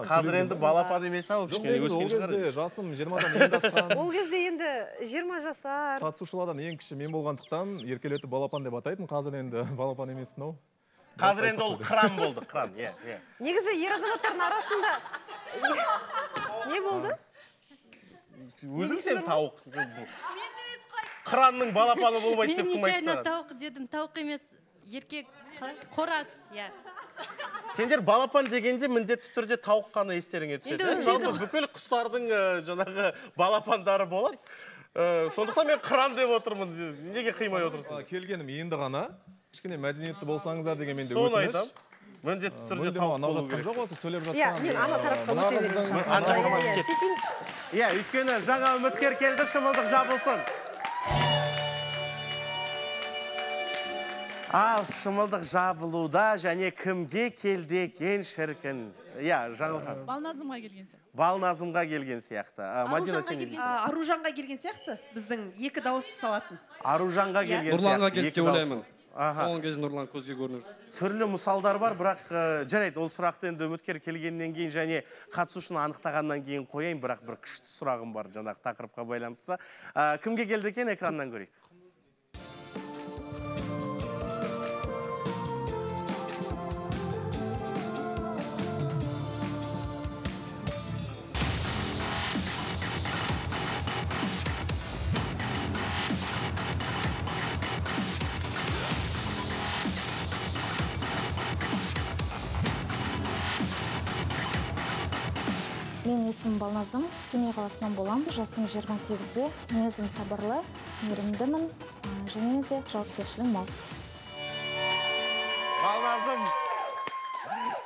Қазір енді балапан емес ау, кішкене өскен шығар. Жасым 20-дан енді асқан. Ол кезде енді 20 жасар. Қатысушылардан ең кіші мен болғандықтан еркелетіп балапан деп атайтын. Қазір енді балапан емеспін ау. Қазір енді ол қыран болды, қыран. Негізі ер азаматтардың арасында не болды? Өзің сен тауық. Қыранның балапаны болмайды деп кім айтса. Мен тауық дедім, тауық емес, еркек, қораз, иә. Сендер балапан дегенде міндетті түрде тауық қана естеріңе түседі. Бүкіл құстардың жаңағы балапандары болады. Сондықтан мен қыран деп отырмын. Неге қимай отырсың? Келгенім енді ғана. Кішкене мәдениетті болсаңыздар деген менде өтініш. Соны айтам. Міндетті түрде тауық болу керек. Жоқ осы сөйлеп жатқан. Иә, мен ана тарапқа өте берейінші. Сөйтейінші. Иә, өйткені жаңа үміткер келді, шымылдық жабылсын. Ал шымылдық жабылуда және кімге келді екен шіркін? Иә, Жаңылхан. Балназымға келген сияқты. Балназымға келген сияқты. Мадина, сен не дейсің? Аружанға келген сияқты, біздің екі дауысты салатын. Аружанға келген сияқты. Нұрланға келді деп ойлаймын. Аха. Соңғы кезде Нұрлан көзге көрініп. Түрлі мысалдар бар, бірақ жарайды, ол сұрақты енді үміткер келгеннен кейін және қатысушыны анықтағаннан кейін қояйын, бірақ бір күшті сұрағым бар жаңағы тақырыпқа байланысты. Кімге келді екен, экраннан көрейік. Мен есімім Балназым, Семей қаласынан боламын, жасым 28-де, мінезім сабырлы, мейірімдімін, және де жауапкершілігім мол. Балназым,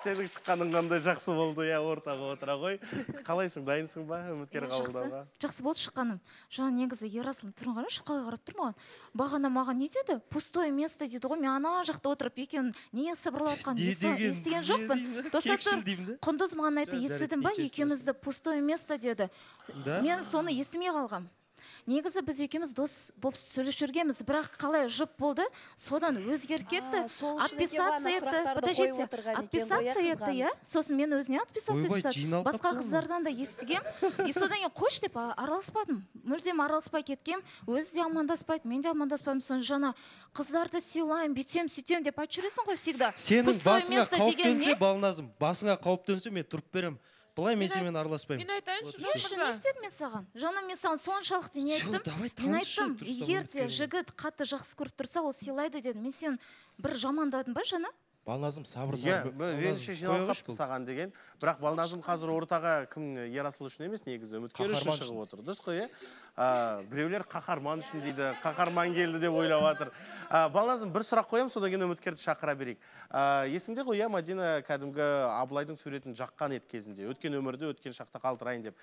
сенің шыққаның қандай жақсы болды, я ортаға отыра ғой. Қалайсың, дайынсың ба, үміткер қабылдауға? Жақсы болды шыққаным. Жаңа негізі Ерасыл тұрын қарашы, қалай қарап тұр маған. Бағана маған не деді? Пустое место дейді ғой, мен ана жақта отырып екеуін не сыбырлатқан естіген жоқпын. Досатыр, Құндыз маған айтты, естідің ба, екеумізді пустое место деді. Мен соны естімей қалғам. Негізі біз екеуміз дос болып сөйлесіп жүргенбіз, бірақ қалай жұп болды, содан өзгеріп кетті. Отписаться етті, подождите, отписаться етті, иә? Сосын мен өзіне отписаться етті. Басқа қыздардан да естігем. И содан кейін қош деп араласпадым. Мүлдем араласпай кеткем, өзі де амандаспайды, мен де амандаспадым. Соны жаңа қыздарды сыйлайын, бүйтем, сөйтем деп айтып жүресің ғой всегда. Сенің басыңа қауіп төнсе, Балназым, басыңа қауіп төнсе, мен тұрып берем. Бұлай мен сенімен араласпаймын. Мен айтайыншы, не үшін не істедім мен саған? Жаңа мен саған соншалықты не айттым? Мен айттым, егер де жігіт қатты жақсы көріп тұрса, ол сыйлайды дедім. Мен сен бір жамандадың ба жаңа? Балназым сабыр. Реніші жиналып қапты саған деген. Бірақ Балназым қазір ортаға кім Ерасыл үшін емес, негізі үміткер үшін шығып отыр. Дұрыс қой, біреулер қаһарман үшін дейді, қаһарман келді деп ойлап жатыр. Балназым, бір сұрақ қоям, содан кейін үміткерді шақыра берейік. Есіңде ғой, Мадина кәдімгі Абылайдың суретін жаққан ет кезінде, өткен өмірді өткен шақта қалдырайын деп.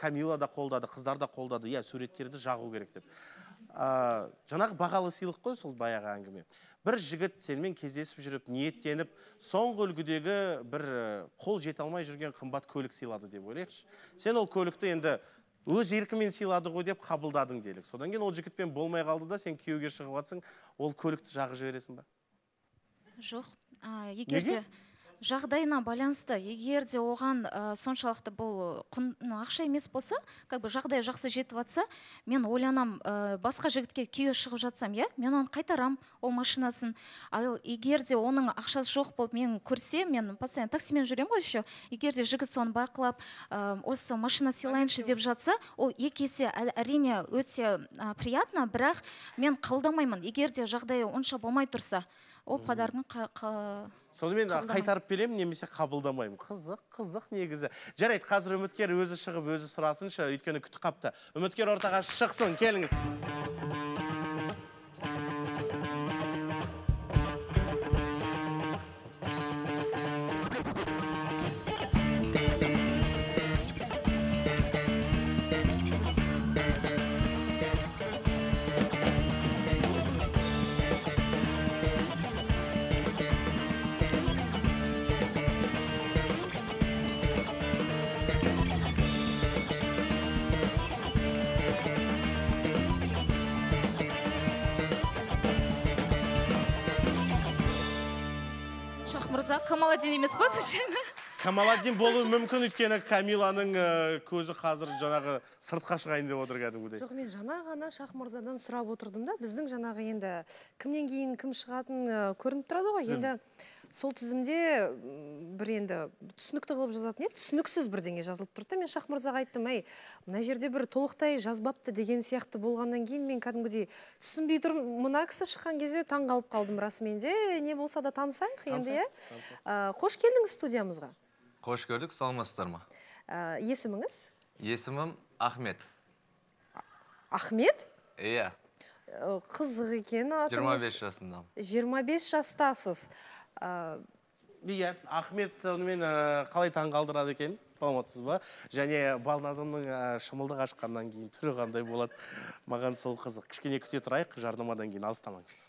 Камила да қолдады, қыздар да қолдады, суреттерді жағу керек деп. Жаңағы бағалы сыйлық қой сол баяғы әңгіме. Бір жігіт сенімен кездесіп жүріп, ниеттеніп, соңғы үлгідегі бір қол жете алмай жүрген қымбат көлік сыйлады деп ойлайықшы. Сен ол көлікті енді өз еркімен сыйлады ғой деп қабылдадың делік. Содан кейін ол жігітпен болмай қалды да, сен күйеуге шығып жатсың, ол көлікті жағы жібересің ба? Жоқ. Егерде жағдайына байланысты, егер де оған соншалықты бұл ақша емес болса, жағдай жақсы жетіп жатса, мен ойланам, басқа жігітке күйеуге шығып жатсам, мен оны қайтарам, ол машинасын. Ал егер де оның ақшасы жоқ болып мен көрсе, мен постоянно таксимен жүрем ғой еще, егер де жігіт соны бақылап, осы машина сыйлайыншы деп жатса, ол екі есе әрине өте приятно, бірақ мен қабылдамаймын. Егер де жағдай онша болмай тұрса, ол подаркын сонымен қайтарып берем, немесе қабылдамаймын. Қызық негізі. Жарайды, қазір үміткер өзі шығып, өзі сұрасыншы, өйткені күтіп қапты. Үміткер ортаға шықсын, келіңіз. Камаладин емес па, случайно? Камаладдин болуы мүмкін, өйткені Камиланың көзі қазір жаңағы сыртқа шығайын деп отыр кәдімгідей. Жоқ, мен жаңа ғана Шахмырзадан сұрап отырдым да, біздің жаңағы енді кімнен кейін кім шығатын көрініп тұрады ғой. Енді сол тізімде бір енді түсінікті қылып жазатын еді, түсініксіз бірдеңе жазылып тұрды. Мен Шахмырзаға айттым, әй, мына жерде бір толықтай жазбапты деген сияқты болғаннан кейін мен кәдімгідей түсінбей тұрмын. Мына кісі шыққан кезде таң қалып қалдым расымен де. Не болса да танысайық енді, иә. Қош келдіңіз студиямызға. Қош көрдік, саламатсыздар ма? Есіміңіз? Есімім Ахмет. Ахмет? Иә. Қызық екен атыңыз. 25 жасындамын. 25 жастасыз. Иә, Ахмет сонымен қалай таң қалдырады екен, саламатсыз ба? Және Балназымның шымылдық ашқаннан кейін түрі қандай болады, маған сол қызық. Кішкене күте тұрайық, жарнамадан кейін алыстамаңыз.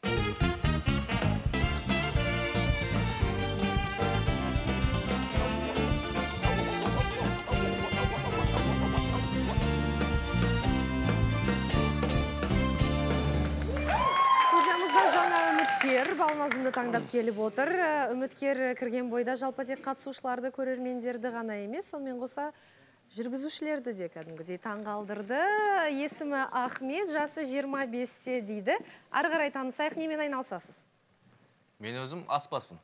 Балназымды таңдап келіп отыр. Үміткер кірген бойда жалпы тек қатысушыларды, көрермендерді ғана емес, сонымен қоса жүргізушілерді де кәдімгідей таң қалдырды. Есімі Ахмет, жасы 25-те дейді. Ары қарай танысайық, немен айналысасыз? Мен өзім аспаспын.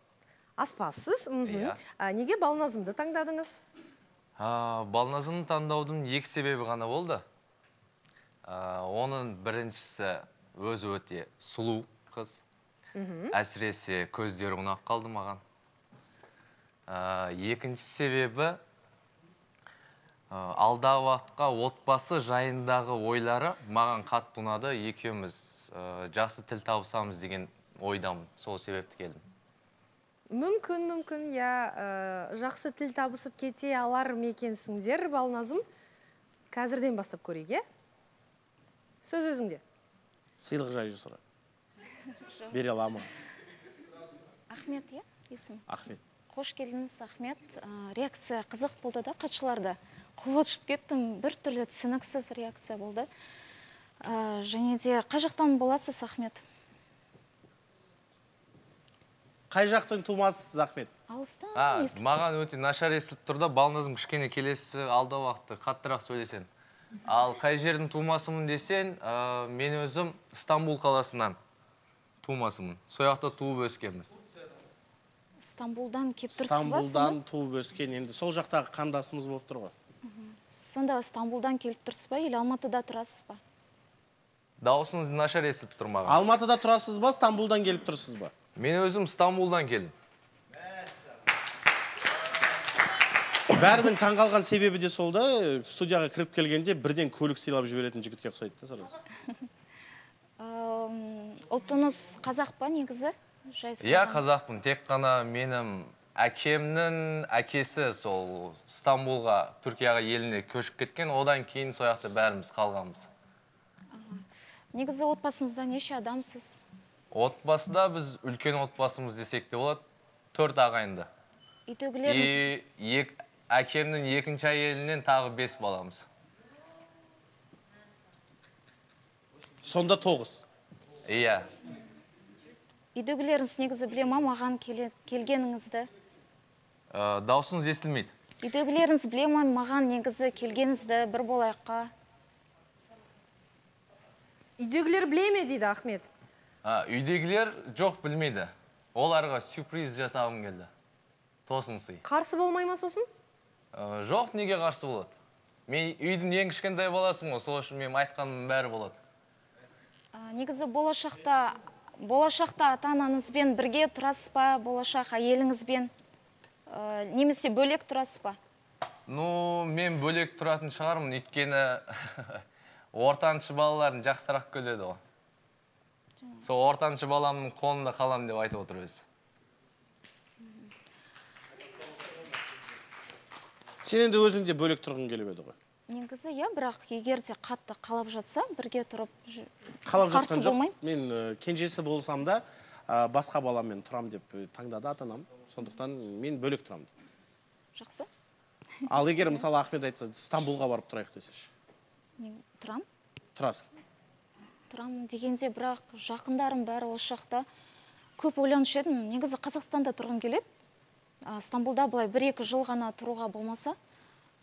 Аспассыз? Неге Балназымды таңдадыңыз? Балназымды таңдаудың екі себебі ғана болды. Оның біріншісі өзі өте сұлу қыз. Әсіресе көздері ұнап қалды маған. Екінші себебі алдағы уақытқа отбасы жайындағы ойлары маған қатты ұнады. Екеуміз жақсы тіл табысамыз деген ойдамын. Сол себепті келдім. Мүмкін, я жақсы тіл табысып кете алар мекенсіңдер, Балназым. Қазірден бастап көрейік, сөз өзіңде. Сыйлық жайы сұра. Бере алама. Ахмет, иә, есім? Ахмет. Қош келдіңіз, Ахмет. Реакция қызық болды да, қатшыларда. Қуылшып кеттім, бір түрлі түсініксіз реакция болды. Және де қай жақтан боласыз, Ахмет? Қай жақтың тумасыз, Ахмет? Алыстан естіліп. Маған өте нашар естіліп тұрды, Балназым кішкене келесі алда уақытты қаттырақ сөйлесен. Ал қай жердің тумасымын десен, мен өзім Стамбул қаласынан тумасымын. Сояқта туып өскенмін. Стамбулдан кеп тұрсыз ба? Стамбулдан туып өскен. Енді сол жақтағы қандасымыз болып тұр ғой. Сонда Стамбулдан келіп тұрсыз ба, или Алматыда тұрасыз ба? Дауысыңыз нашар естіліп тұр маған. Алматыда тұрасыз ба, Стамбулдан келіп тұрсыз ба? Мен өзім Стамбулдан келдім. Бәрінің таңғалған себебі де сол да, студияға кіріп келгенде бірден көлік сыйлап жіберетін жігітке ұқсайды да сразу. Ұлтыңыз қазақ па негізі? Иә, қазақпын. Тек қана менің әкемнің әкесі сол Стамбулға, Түркияға еліне көшіп кеткен, одан кейін сояқты бәріміз қалғанбыз. Негізі отбасыңызда неше адамсыз? Отбасыда біз үлкен отбасымыз десек те болады, 4 ағайынды. Үйдегілеріңіз? Әкемнің екінші әйелінен тағы 5 баламыз. Сонда 9. Иә. Үйдегілеріңіз негізі біле ма маған келгеніңізді? Даусыңыз естілмейді. Үйдегілеріңіз біле ма маған негізі келгеніңізді бір болайыққа? Үйдегілер біле ме дейді Ахмет? Үйдегілер жоқ білмейді. Оларға сюрприз жасағым келді. Тосын сый. Қарсы болмай ма сосын? Жоқ, неге қарсы болады? Мен үйдің ең кішкентай баласым ғой, сол үшін мен айтқаным бәрі болады. Негізі болашақта ата-анаңызбен бірге тұрасыз ба, болашақ әйеліңізбен, немесе бөлек тұрасыз ба? Мен бөлек тұратын шығармын, өйткені ортаншы балаларын жақсырақ көреді ғой. Сол ортаншы баламның қолында қалам деп айтып отыр өзі. Сен енді өзіңде бөлек тұрғың келіп еді ғой? Негізі, иә, бірақ егер де қатты қалап жатса, бірге тұрып қалап жатқан жоқ. Мен кенжесі болсам да, басқа баламмен тұрам деп таңдады ата-анам. Сондықтан мен бөлек тұрам. Жақсы. Ал егер мысалы Ахмет айтса, Стамбулға барып тұрайық десеш? Тұрам? Тұрасың. Тұрам дегенде, бірақ жақындарым бәрі осы жақта көп ойланушы едім. Негізі Қазақстанда тұрғым келеді. Стамбулда былай 1-2 жыл ғана тұруға болмаса,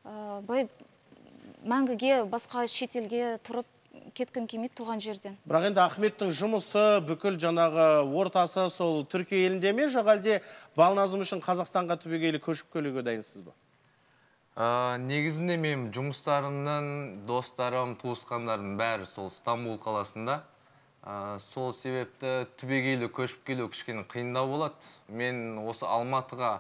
былай мәңгіге басқа шетелге тұрып кеткім келмейді туған жерден. Бірақ енді Ахметтің жұмысы, бүкіл жаңағы ортасы сол Түркия елінде ме, жоқ әлде Балназым үшін Қазақстанға түбегейлі көшіп келуге дайынсыз ба? Негізінде мен жұмыстарымның, достарым, туысқандарым бәрі сол Стамбул қаласында. Сол себепті түбегейлі көшіп келу кішкене қиындау болады. Мен осы Алматыға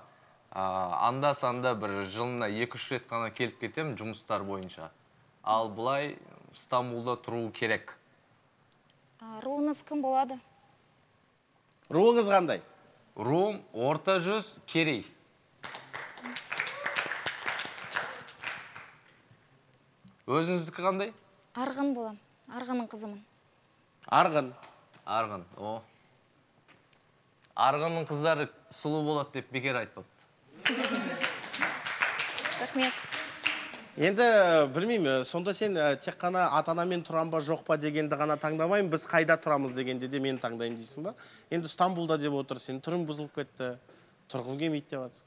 анда-санда бір жылына 2-3 рет қана келіп кетем жұмыстар бойынша. Ал бұлай Стамбулда тұру керек. Руыңыз кім болады? Руыңыз қандай? Руым орта жүз Керей. Өзіңіздікі қандай? Арғын болам. Арғынның қызымын. Арғын. Арғын, о. Арғынның қыздары сұлу болады деп бекер айтпапты. Рахмет. Енді білмеймін, сонда сен тек қана ата-анамен тұрам ба жоқ па дегенді ғана таңдамайым, біз қайда тұрамыз дегенде де мен таңдаймын дейсің ба? Енді Стамбулда деп отыр, сен түрің бұзылып кетті, тұрғың келмейді деп жатсың.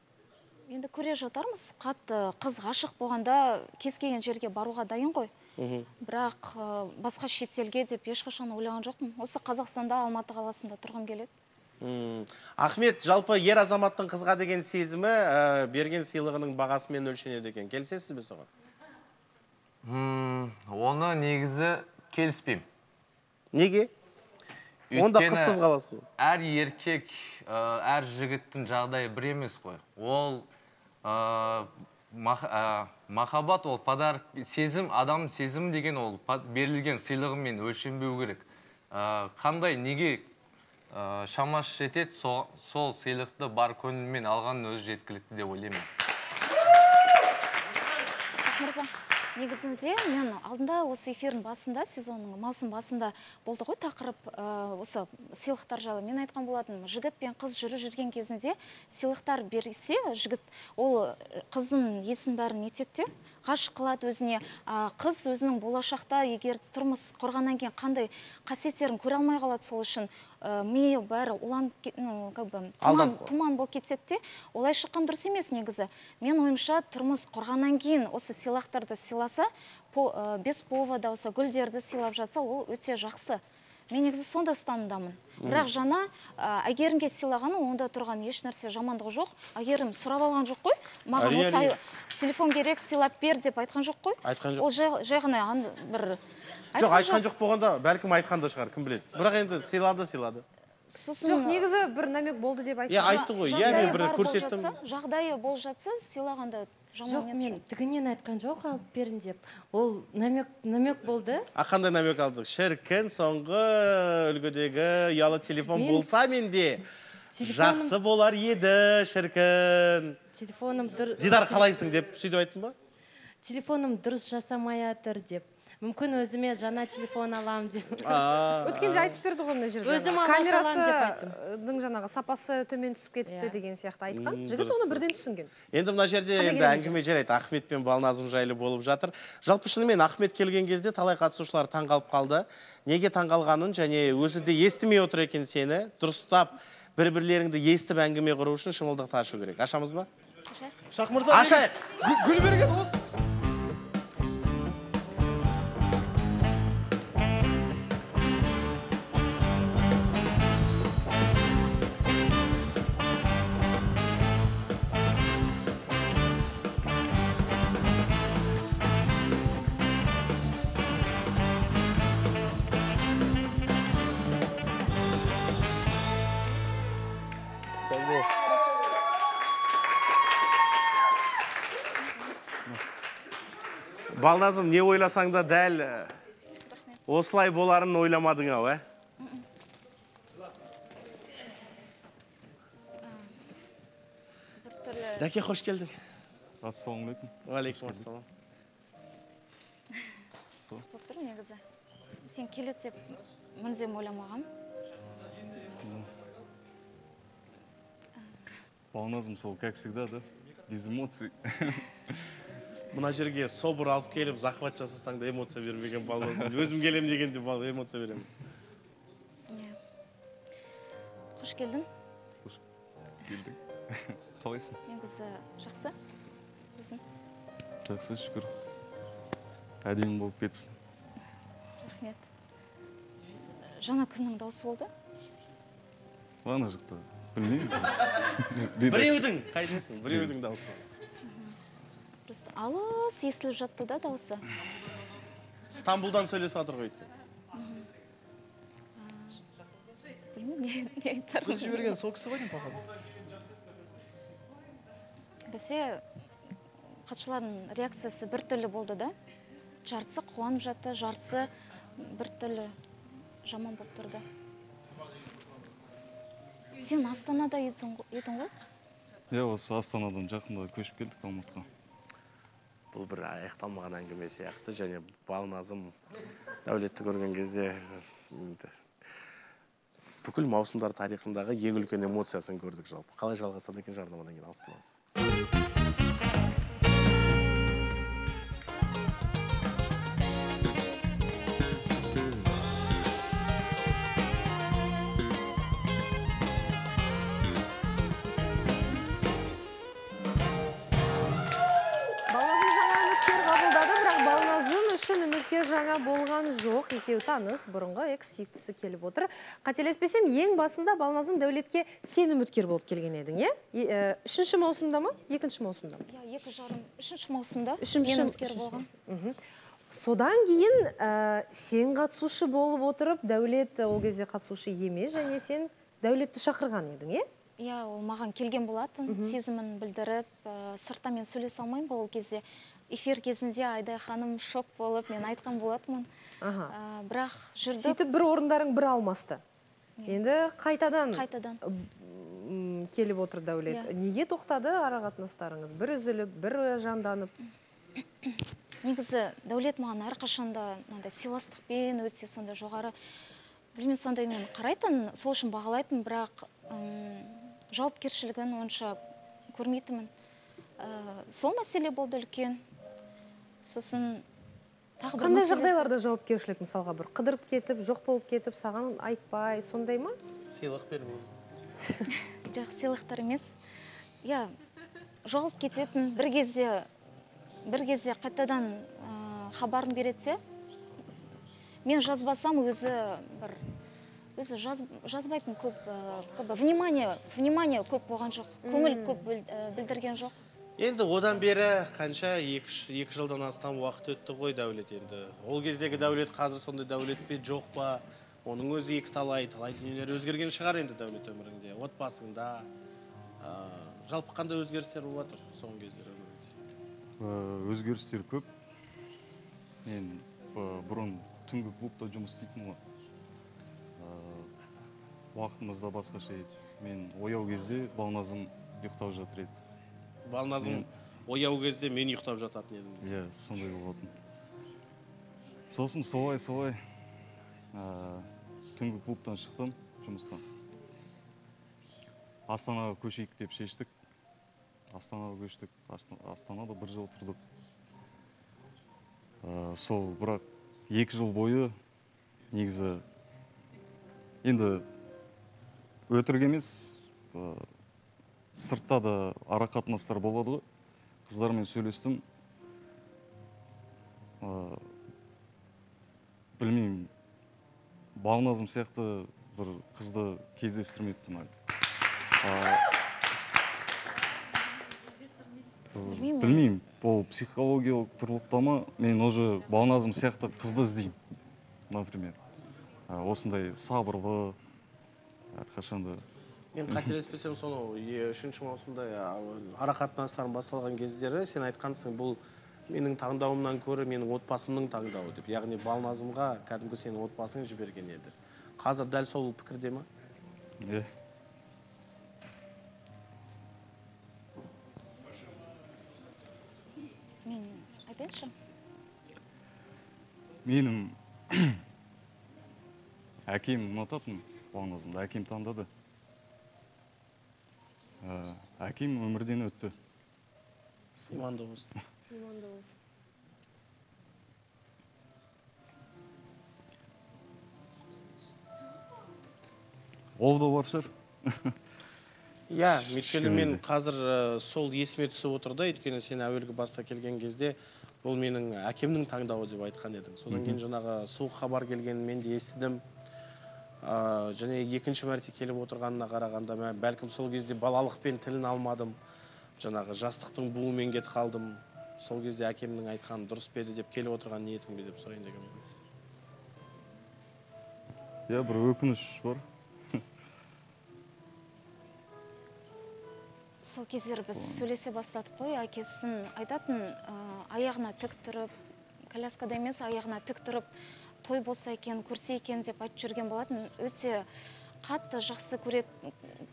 Енді көре жатармыз, қатты қыз ғашық болғанда кез келген жерге баруға дайын ғой. Бірақ басқа шетелге деп ешқашан ойлаған жоқпын. Осы Қазақстанда, Алматы қаласында тұрғым келеді. Ахмет, жалпы ер азаматтың қызға деген сезімі берген сыйлығының бағасымен өлшенеді екен. Келісесіз бе соған? Оны негізі келіспеймін. Неге? Онда қызсыз қаласыз. Әр еркек, әр жігіттің жағдайы бір емес қой. Ол махаббат, ол подарок, сезім, адамның сезімі деген ол берілген сыйлығымен өлшенбеу керек. Қандай, неге шамасы жетеді, сол сыйлықты бар көңілмен алғанның өзі жеткілікті деп ойлаймын. Мырза, негізінде мен алдында осы эфирдің басында, сезонның маусым басында болды ғой тақырып осы сыйлықтар жайлы. Мен айтқан болатын, жігіт пен қыз жүрген кезінде сыйлықтар берсе, жігіт ол қыздың есін бәрін етеді де, ғашық қылады өзіне. Қыз өзінің болашақта егер тұрмыс құрғаннан кейін қандай қасиеттерін көре алмай қалады, сол үшін миы бәрі тұман болып кетеді де, олай шыққан дұрыс емес негізі. Мен ойымша тұрмыс құрғаннан кейін осы сыйлықтарды сыйласа, без повода осы гүлдерді сыйлап жатса, ол өте жақсы. Мен негізі сонда ұстанымдамын. Бірақ жана әйгерімге сыйлағаны онда тұрған еш нәрсе жамандығы жоқ. Әйгерім сұрап алған жоқ қой. Маған осы телефон керек, сыйлап бер деп айтқан жоқ қой. Айтқан жоқ. Ол жай ғана бір... Жоқ, айтқан жоқ болғанда, бәлкім айтқан да шығар, кім біледі. Бірақ енді сыйлады. Жоқ, негізі бір намек болды деп айтты. Айтты ғой, мен бір көрсеттім. Жағдайы бол жатса, сыйлағанда жоқ, мен тігінен айтқан жоқ, алып берін деп. Ол намек болды. Қандай намек алдық? Шіркін, соңғы үлгідегі ұялы телефон болса менде жақсы болар еді, шіркін. Телефоным дұрыс... Дидар, қалайсың деп сөйтіп айттың ба? Телефоным дұрыс жасамай атыр деп. Мүмкін өзіме жаңа телефон алам деп. Өткенде айтып берді ғой мына жерде. Өзім ала салам деп айттым. Камерасының жаңағы сапасы төмен түсіп кетіпті деген сияқты айтқан. Жігіт оны бірден түсінген. Енді мына жерде әңгіме жарайды. Ахмет пен Балназым жайлы болып жатыр. Жалпы шынымен Ахмет келген кезде талай қатысушылар таңғалып қалды. Неге таңғалғанын және өзі де естімей отыр екен сені. Дұрыстап бір-бірлеріңді естіп әңгіме құру үшін шымылдықты ашу керек. Ашамыз ба? Шах мырза, гүл берген осы. Балназым, не ойласаң да дәл осылай боларын ойламадың ау, ә? Дәке, қош келдің. Ассалаумалейкум. Уалейкум ассалам. Қызық болып тұр негізі. Сен келеді деп мүлдем ойламағам. Балназым, сол, как всегда, да? Без эмоций. Мына жерге собыр алып келіп, захват жасасаң да эмоция бермеген Балназым. Өзім келем дегенде эмоция беремін. Қош келдің. Қош келдің. қалайсың? Негізі жақсы. Өзің? Жақсы, шүкір. Әдемі болып кетсін. Рахмет. Жаңа кімнің дауысы болды? Ана жақта. Білмеймін. Біреудің, қайдасың? Біреудің дауысы. Просто алыс естіліп жатты да дауысы. Стамбулдан сөйлесіп жатыр ғой өйткені. Білмеймін, не айтарым. Гүл жіберген сол кісі ғой деймін, походу. Бізде қатшылардың реакциясы бір түрлі болды да. Жартысы қуанып жатты, жартысы бір түрлі жаман болып тұрды. Сен Астанада едің ғой? Иә, осы Астанадан жақында көшіп келдік Алматыға. Бұл бір аяқталмаған әңгіме сияқты, және Балназым Дәулетті көрген кезде бүкіл маусымдар тарихындағы ең үлкен эмоциясын көрдік жалпы. Қалай жалғасады екен жарнамадан кейін алыстамаңыз. Үміткер жаңа болған жоқ, екеуі таныс, бұрынғы экс-сүйіктісі келіп отыр. Қателеспесем, ең басында Балназым Дәулетке сен үміткер болып келген едің, е? 3-ші маусымда ма? 2-ші маусымда ма? 3-ші маусымда мен үміткер болған. Содан кейін сен қатысушы болып отырып, Дәулет ол кезде қатысушы емес, және сен Дәулетті шақырған едің, е? Иә, ол маған келген болатын, сезімін білдіріп, сыртта мен сөйлесе алмаймын ол кезде. Эфир кезінде Айдай ханым шок болып, мен айтқан болатымын. Бірақ жүрдік. Сөйтіп бір орындарың бір алмасты. Енді қайтадан келіп отыр Дәулет. Неге тоқтады арақатынастарыңыз? Бір үзіліп, бір жанданып? Негізі Дәулет маған әрқашанда сыйластықпен өтсе сонда жоғары. Білмеймін, сондай мен қарайтын, сол үшін бағалайтын, бірақ жауапкершілігін онша көрмейтінмін. Сол мәселе болды үлкен. Сосын тағы бір мәселе. Қандай жағдайларда жауапкершілік, мысалға бір қыдырып кетіп, жоқ болып кетіп, саған айтпай, сондай ма? Сыйлық бермей. Жоқ, сыйлықтар емес. Иә, жоғалып кететін, бір кезде қайтадан хабарын беретсе, мен жазбасам өзі жазбайтын көп, внимание көп болған жоқ, көңіл көп білдірген жоқ. Енді одан бері қанша 2 жылдан астам уақыт өтті ғой Дәулет енді. Ол кездегі Дәулет қазір сондай Дәулет пе жоқ па? Оның өзі екі талай дүниелер өзгерген шығар енді Дәулет өміріңде, отбасыңда. Жалпы қандай өзгерістер болып жатыр соңғы кездері өміріңде? Өзгерістер көп. Мен бұрын түнгі клубта жұмыс істейтін ғой. Уақытымызда басқаша еді. Мен ояу кезде Балназым ұйықтап жатыр еді. Балназым ояу кезде мен ұйықтап жататын едім. Иә, сондай болатын. Сосын солай түнгі клубтан шықтым жұмыстан. Астанаға көшейік деп шештік. Астанаға көштік. Астанада 1 жыл тұрдық. Сол бірақ 2 жыл бойы негізі енді өтірік емес, сыртта да арақатынастар болады ғой. Қыздармен сөйлестім. Білмеймін, Балназым сияқты бір қызды кездестірмеппін әлі. Білмеймін, ол психологиялық тұрлықтама, мен уже Балназым сияқты қызды іздеймін, например. Осындай сабырлы, әрқашанда. Мен қателеспесем, соны 3-ші маусымда арақатынастарым басталған кездері сен айтқансың, бұл менің таңдауымнан көрі менің отбасымның таңдауы деп. Яғни Балназымға кәдімгі сенің отбасың жіберген еді. Қазір дәл сол пікірде ма? Иә. Мен айтайыншы? Менің әкем ұнататын Балназымды, әкем таңдады. Әкем өмірден өтті. Иманды болсын. Иманды болсын. Ол да бар шығар. Иә, өйткені мен қазір сол есіме түсіп отыр да, өйткені сен әуелгі баста келген кезде бұл менің әкемнің таңдауы деп айтқан едің. Содан кейін жаңағы суық хабар келгенін мен де естідім. Және екінші мәрте келіп отырғанына қарағанда мен бәлкім сол кезде балалықпен тілін алмадым. Жаңағы жастықтың буымен кетіп қалдым. Сол кезде әкемнің айтқаны дұрыс пе еді деп келіп отырған ниетім бе деп сұрайын деген. Иә, бір өкініш бар. Сол кездері біз сөйлесе бастадық қой, әкесін айтатын, аяғына тік тұрып, коляскада емес, аяғына тік тұрып, той болса екен, көрсе екен деп айтып жүрген болатын. Өте қатты жақсы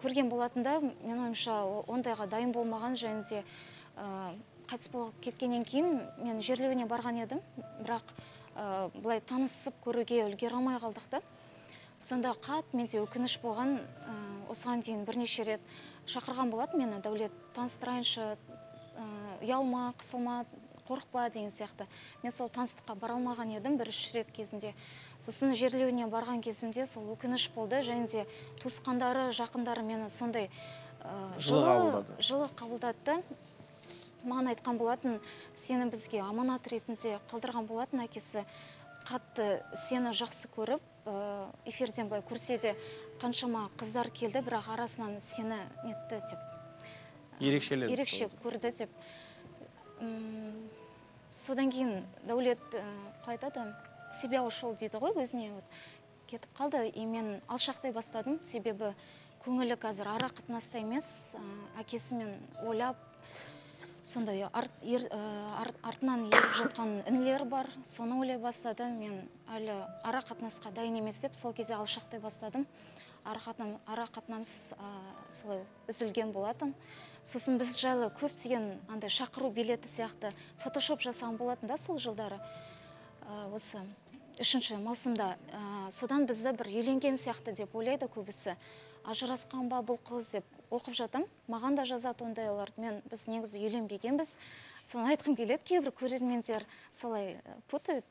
көрген болатын да, мен ойымша ондайға дайын болмаған, және де қайтыс болып кеткеннен кейін мен жерлеуіне барған едім, бірақ бұлай танысып көруге үлгере алмай қалдық та. Сонда қат менде өкініш болған, осыған дейін бірнеше рет шақырған болатын мені, Дәулет, таныстырайыншы, ұялма, қысылма, қорықпа деген сияқты. Мен сол таныстыққа бара алмаған едім бір 3 рет кезінде. Сосын жерлеуіне барған кезімде сол өкініш болды, және де туысқандары, жақындары мені сондай жылы қабылдады. Маған айтқан болатын, сені бізге аманат ретінде қалдырған болатын әкесі, қатты сені жақсы көріп, эфирден былай көрсе де қаншама қыздар келді, бірақ арасынан сені нетті деп. Ерекше көрді деп. Содан кейін Дәулет қалайтады, в себя ушел дейді ғой, өзіне кетіп қалды. И мен алшақтай бастадым, себебі көңілі қазір ара қатынаста емес, әкесімен ойлап, сондай артынан еріп жатқан інілер бар, соны ойлай бастады. Мен әлі ара қатынасқа дайын емес деп, сол кезде алшақтай бастадым. Ара қатынамыз солай үзілген болатын. Сосын біз жайлы көптеген андай шақыру билеті сияқты фотошоп жасаған болатын да сол жылдары. Осы 3 маусымда. Содан бізді бір үйленген сияқты деп ойлайды көбісі. Ажырасқан ба бұл қыз деп оқып жатым. Маған да жазады ондайлар. Біз негізі үйленбегенбіз. Соны айтқым келеді, кейбір көрермендер солай путают.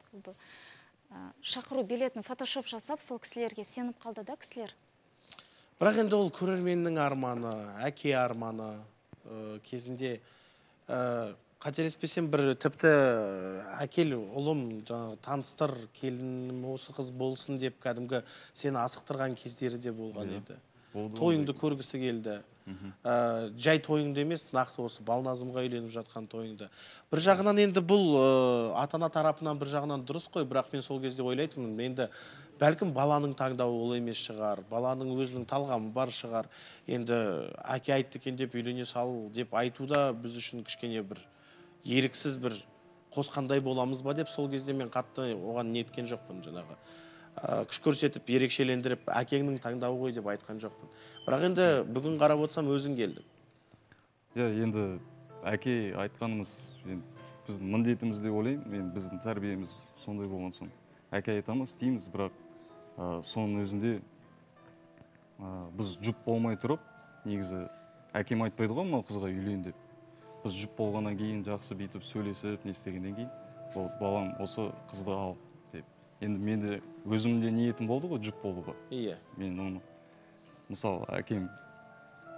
Шақыру билетін фотошоп жасап, сол кісілерге сеніп қалды да кісілер. Бірақ енді ол көрерменнің арманы, әке арманы кезінде қателеспесем бір тіпті әкел ұлым таныстыр, келінім осы қыз болсын деп кәдімгі сені асықтырған кездері де болған еді. Тойыңды көргісі келді. Жай тойыңды емес, нақты осы Балназымға үйленіп жатқан тойыңды. Бір жағынан енді бұл ата-ана тарапынан бір жағынан дұрыс қой, бірақ мен сол кезде ойлайтынмын, енді бәлкім баланың таңдауы ол емес шығар, баланың өзінің талғамы бар шығар. Енді әке айтты екен деп үйлене сал деп айтуда біз үшін кішкене бір еріксіз бір қосқандай боламыз ба деп сол кезде мен қатты оған неткен жоқпын жаңағы. Күш көрсетіп, ерекшелендіріп, әкеңнің таңдауы ғой деп айтқан жоқпын. Бірақ енді бүгін қарап отырсам өзің келдің. Иә, енді әке айтқанымыз біздің міндетіміз деп ойлаймын. Біздің тәрбиеміз сондай болған соң. Әке айтамыз, істейміз, бірақ соның өзінде біз жұп болмай тұрып, негізі әкем айтпайды ғой, мынау қызға үйлен деп. Біз жұп болғаннан кейін жақсы бүйтіп сөйлесіп, не істегеннен кейін, балам осы қызды ал деп. Енді менде өзімде ниетім болды ғой, жұп болуға. Иә. Мен оны, мысалы, әкем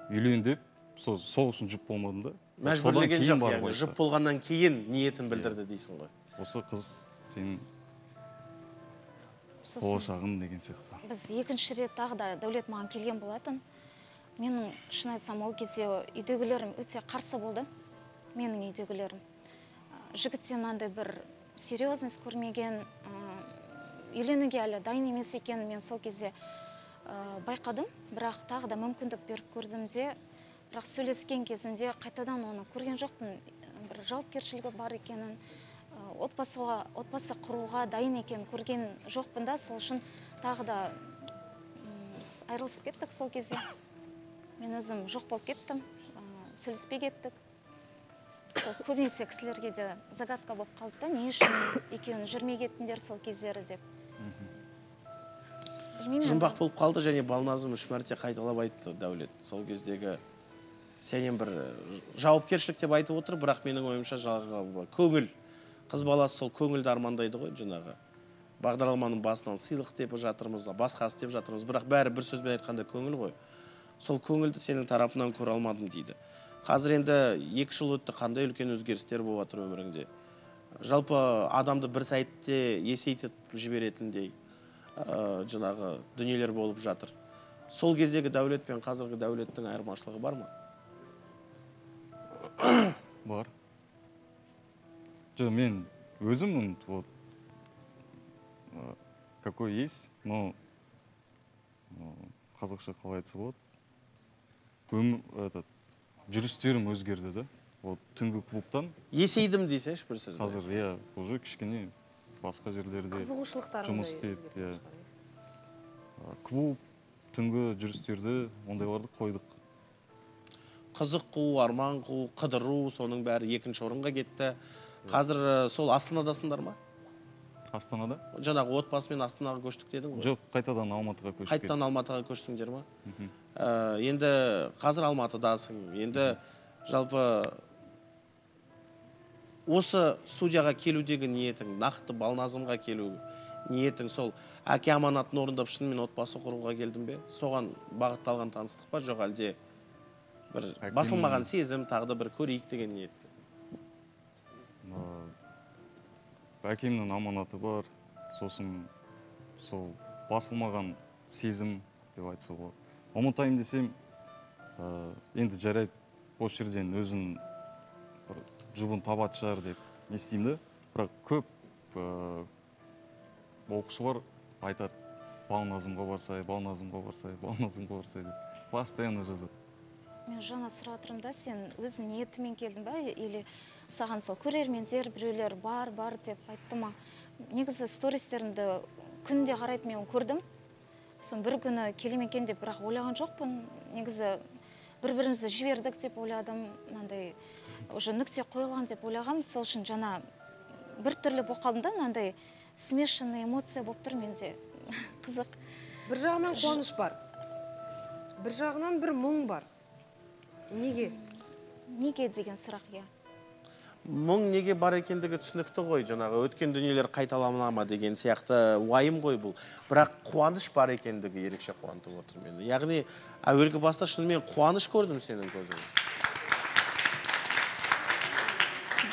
үйлен деп, сол үшін жұп болмадым да. Мәжбүрлеген жоқ, яғни жұп болғаннан кейін ниетін білдірді дейсің ғой. Осы қыз сенің болашағың деген сияқты. Біз екінші рет тағы да Дәулет маған келген болатын. Менің шын айтсам ол кезде үйдегілерім өте қарсы болды. Менің үйдегілерім. Жігіттен мынандай бір серьезность көрмеген, үйленуге әлі дайын емес екен, мен сол кезде байқадым. Бірақ тағы да мүмкіндік беріп көрдім де, бірақ сөйлескен кезінде қайтадан оны көрген жоқпын. Бір жауапкершілігі бар екенін, отбасы құруға дайын екен көрген жоқпын да, сол үшін тағы да айырылысып кеттік сол кезде. Мен өзім жоқ болып кеттім, сөйлеспей кеттік. Көбінесе кісілерге де загадка болып қалды да, не үшін екеуін жүрмей кеттіңдер сол кездері деп. Жұмбақ болып қалды, және Балназым 3 мәрте қайталап айтты Дәулет. Сол кездегі сенен бір жауапкершілік деп айтып отыр, бірақ менің ойымша жаңағы көңіл, қыз баласы сол көңілді армандайды ғой, жаңағы. Бағдарламаның басынан сыйлық деп жатырмыз, басқасы деп жатырмыз, бірақ бәрі бір сөзбен айтқанда көңіл ғой. сол көңілді сенің тарапынан көре алмадым дейді. Қазір енді 2 жыл өтті, қандай үлкен өзгерістер болып жатыр өміріңде? Жалпы адамды бір сәтте есейтіп жіберетіндей жаңағы дүниелер болып жатыр. Сол кездегі дәулет пен қазіргі дәулеттің айырмашылығы бар ма? Бар. Мен өзім, вот, какой есть, но қазақша қалай айтса болады, жүрістерім өзгерді да. Вот түнгі клубтан есейдім дейсеңші бір сөзбен. Қазір уже кішкене басқа жерлерде жұмыс істейді. Клуб, түнгі жүрістерді, ондайларды қойдық. Қызық қуу, арман қуу, қыдыру, соның бәрі 2-ші орынға кетті. Қазір сол Астанадасыңдар ма? Астанада? Жаңағы отбасымен Астанаға көштік дедің ғой? Жоқ, қайтадан Алматыға көштік. Қайтадан Алматыға көштіңдер ма? Енді қазір Алматыдасың. Енді жалпы осы студияға келудегі ниетің, нақты Балназымға келу ниетің сол әке аманатын орындап шынымен отбасы құруға келдің бе? Соған бағытталған таныстық па, жоқ әлде бір басылмаған сезім, тағды бір көрейік деген ниет? Әкемнің аманаты бар, сосын сол басылмаған сезім деп айтса болады. Ұмытайын десем, енді жарайды, осы жерден өзін жұбын табат шығар деп естеймді. Бірақ көп оқушылар айтады, Балназымға барсай, Балназымға барсай, Балназымға барсай деп. Постоянно жазады. Мен жаңа сұрап отырмын да, сен өзің ниетімен келдің ба, или саған сол көрермендер біреулер бар деп айтты ма? Негізі стористерімді күнде қарайды, мен көрдім. Сон бір күні келем екен деп бірақ ойлаған жоқпын. Негізі бір-бірімізді жібердік деп ойладым. Мынандай уже нүкте қойылған деп ойлағам. Сол үшін жаңа бір түрлі болып қалдым да, мынандай смешанный эмоция болып тұр менде. Қызық. Бір жағынан қуаныш бар. Бір жағынан бір мұң бар. Неге? Неге деген сұрақ, иә. Мұң неге бар екендігі түсінікті ғой, жаңағы өткен дүниелер қайталанама деген сияқты уайым ғой бұл. Бірақ қуаныш бар екендігі ерекше қуантып отыр мені. Яғни әуелгі баста шынымен қуаныш көрдім сенің көзіңнен.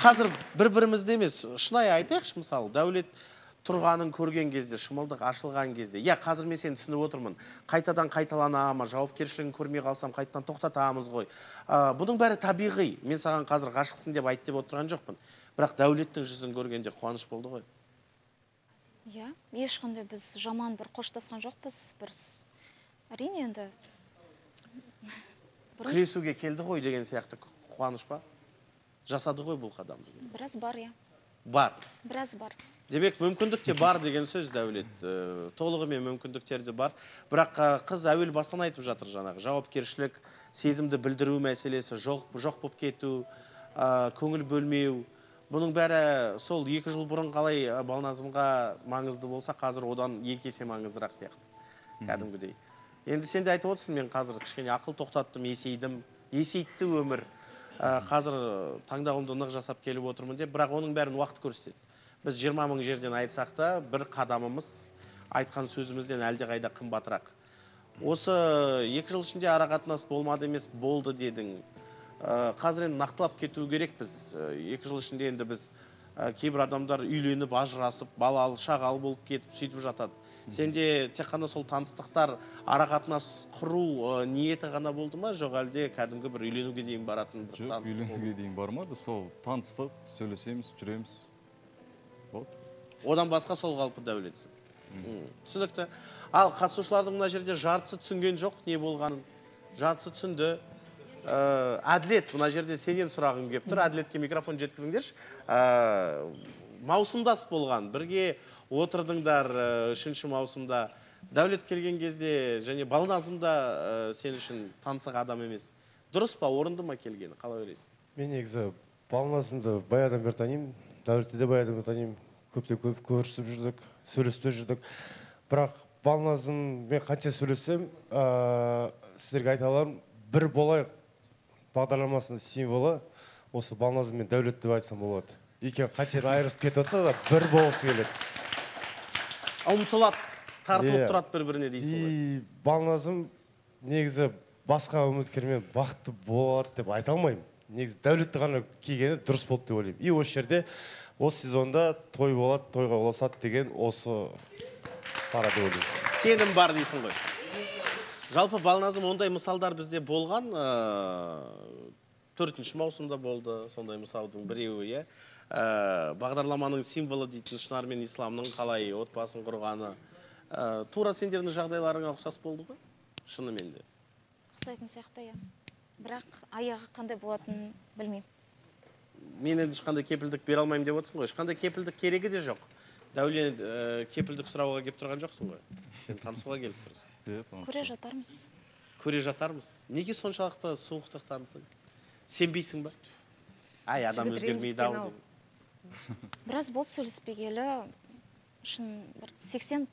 Қазір бір-бірімізде емес, шынайы айтайықшы, мысалы, дәулет тұрғанын көрген кезде, шымылдық ашылған кезде, қазір мен сені түсініп отырмын, қайтадан қайталанама, жауапкершілігін көрмей қалсам, қайтадан тоқтатамыз ғой. Бұның бәрі табиғи. Мен саған қазір ғашықсың деп айт деп отырған жоқпын. Бірақ дәулеттің жүзін көргенде қуаныш болды ғой. Иә, ешқандай біз жаман бір қоштасқан жоқпыз. Әрине енді. Күресуге келді ғой деген сияқты қуаныш па? Жасады ғой бұл қадамды. Біраз бар, иә. Бар. Біраз бар. Демек, мүмкіндік те бар деген сөз, Дәулет. Толығымен мүмкіндіктер де бар. Бірақ қыз әуел бастан айтып жатыр жаңағы. Жауапкершілік, сезімді білдіру мәселесі, жоқ болып кету, көңіл бөлмеу. Бұның бәрі сол 2 жыл бұрын қалай Балназымға маңызды болса, қазір одан 2 есе маңыздырақ сияқты. Кәдімгідей. Енді сен де айтып отырсың, мен қазір кішкене ақыл тоқтаттым, есейтті өмір. Қазір таңдауымды нық жасап келіп отырмын деп, бірақ оның бәрін уақыт көрсетеді. Біз 20 мың жерден айтсақ та, бір қадамымыз айтқан сөзімізден әлде қайда қымбатырақ. Осы 2 жыл ішінде арақатынас болмады емес, болды дедің. Қазір енді нақтылап кету керек біз. 2 жыл ішінде енді біз кейбір адамдар үйленіп, ажырасып, балалы, шағалы болып кетіп, сөйтіп жатады. Сенде тек қана сол таныстықтар, арақатынас құру ниеті ғана болды ма, жоқ әлде кәдімгі бір үйленуге дейін баратын бір таныстық болды? Жоқ, үйленуге дейін бармады, сол таныстық, сөйлесеміз, жүреміз. Одан басқа сол қалпы дәулетсің. Түсінікті. Ал қатысушылардың мына жерде жартысы түсінген жоқ, не болғанын. Жартысы түсінді. Әділет, мына жерде сенен сұрағым келіп тұр. Әділетке микрофон жеткізіңдерші. Маусымдас болған, бірге отырдыңдар 3-ші маусымда. Дәулет келген кезде, және Балназымда сен үшін танысық адам емес. Дұрыс па, орынды ма келгені? Қалай ойлайсың? Мен негізі Балназымды баядан бері танимын. Дәулетті де баядан бері танимын. Көптеп көрісіп жүрдік, сөйлесіп жүрдік. Бірақ Балназым, мен қанша сөйлесем, сіздерге айта аламын, бір болайық бағдарламасының символы осы Балназым мен Дәулет деп айтсам болады. Екеуі қанша айырылысып кетіп отырса да бір болғысы келеді. Ұмтылады, тартылып тұрады бір-біріне дейсің ғой. Балназым негізі басқа үміткермен бақытты болады деп айта алмаймын. Негізі Дәулетті ғана келгені дұрыс болды деп ойлаймын. И осы жерде осы сезонда той болады, тойға ұласады деген осы пара деп ойлаймын. Сенім бар дейсің ғой. Жалпы Балназым ондай мысалдар бізде болған, 4-ші маусымда болды, сондай мысалдың біреуі, бағдарламаның символы дейтін Шынар мен Исламның қалай отбасын құрғаны. Тура сендердің жағдайларыңа ұқсас болды ғой? Шынымен де. Ұқсайтын сияқты, иә. Бірақ аяғы қандай болатынын білмеймін. Мен енді ешқандай кепілдік бере алмаймын деп отырсың ғой. Ешқандай кепілдік керегі де жоқ. Дәулет кепілдік сұрауға келіп тұрған жоқсың ғой. Сен танысуға келіп тұрсың. Көре жатармыз. Көре жатармыз. Неге соншалықты суықтық таныттың? Сенбейсің ба? Ай, адам өзгермейді ау. Біраз болды сөйлеспегелі. Шын 80%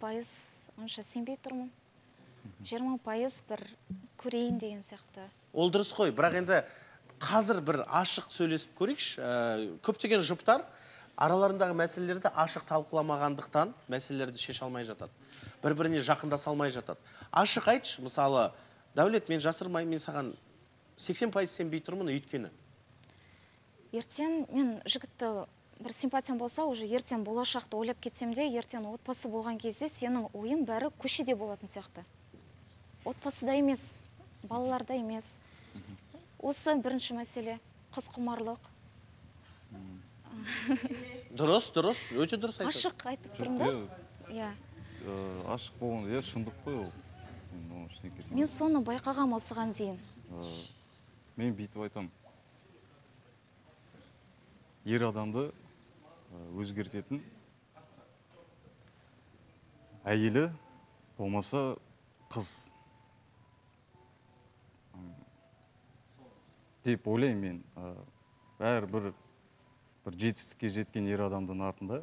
онша сенбей тұрмын. 20% бір көрейін деген сияқты. Ол дұрыс қой, бірақ енді қазір бір ашық сөйлесіп көрейікші. Көптеген жұптар араларындағы мәселелерді ашық талқыламағандықтан мәселелерді шеше алмай жатады. Бір-біріне жақындаса алмай жатады. Ашық айтшы, мысалы, Дәулет, мен жасырмаймын, мен саған 80% сенбей тұрмын, өйткені. Ертең мен жігітті бір симпатиям болса, уже ертең болашақты ойлап кетсем де, ертең отбасы болған кезде сенің ойың бәрі көшеде болатын сияқты. Отбасыда емес, балаларда емес. Осы бірінші мәселе, қыз құмарлық. Дұрыс, өте дұрыс айтасың. Ашық айтып тұрмын да? Ашық болғанда, шындық қой ол. Мен соны байқағам осыған дейін. Мен бүйтіп айтам. Ер адамды өзгертетін әйелі болмаса қыз деп ойлаймын мен. Бәрі бір жетістікке жеткен ер адамдың артында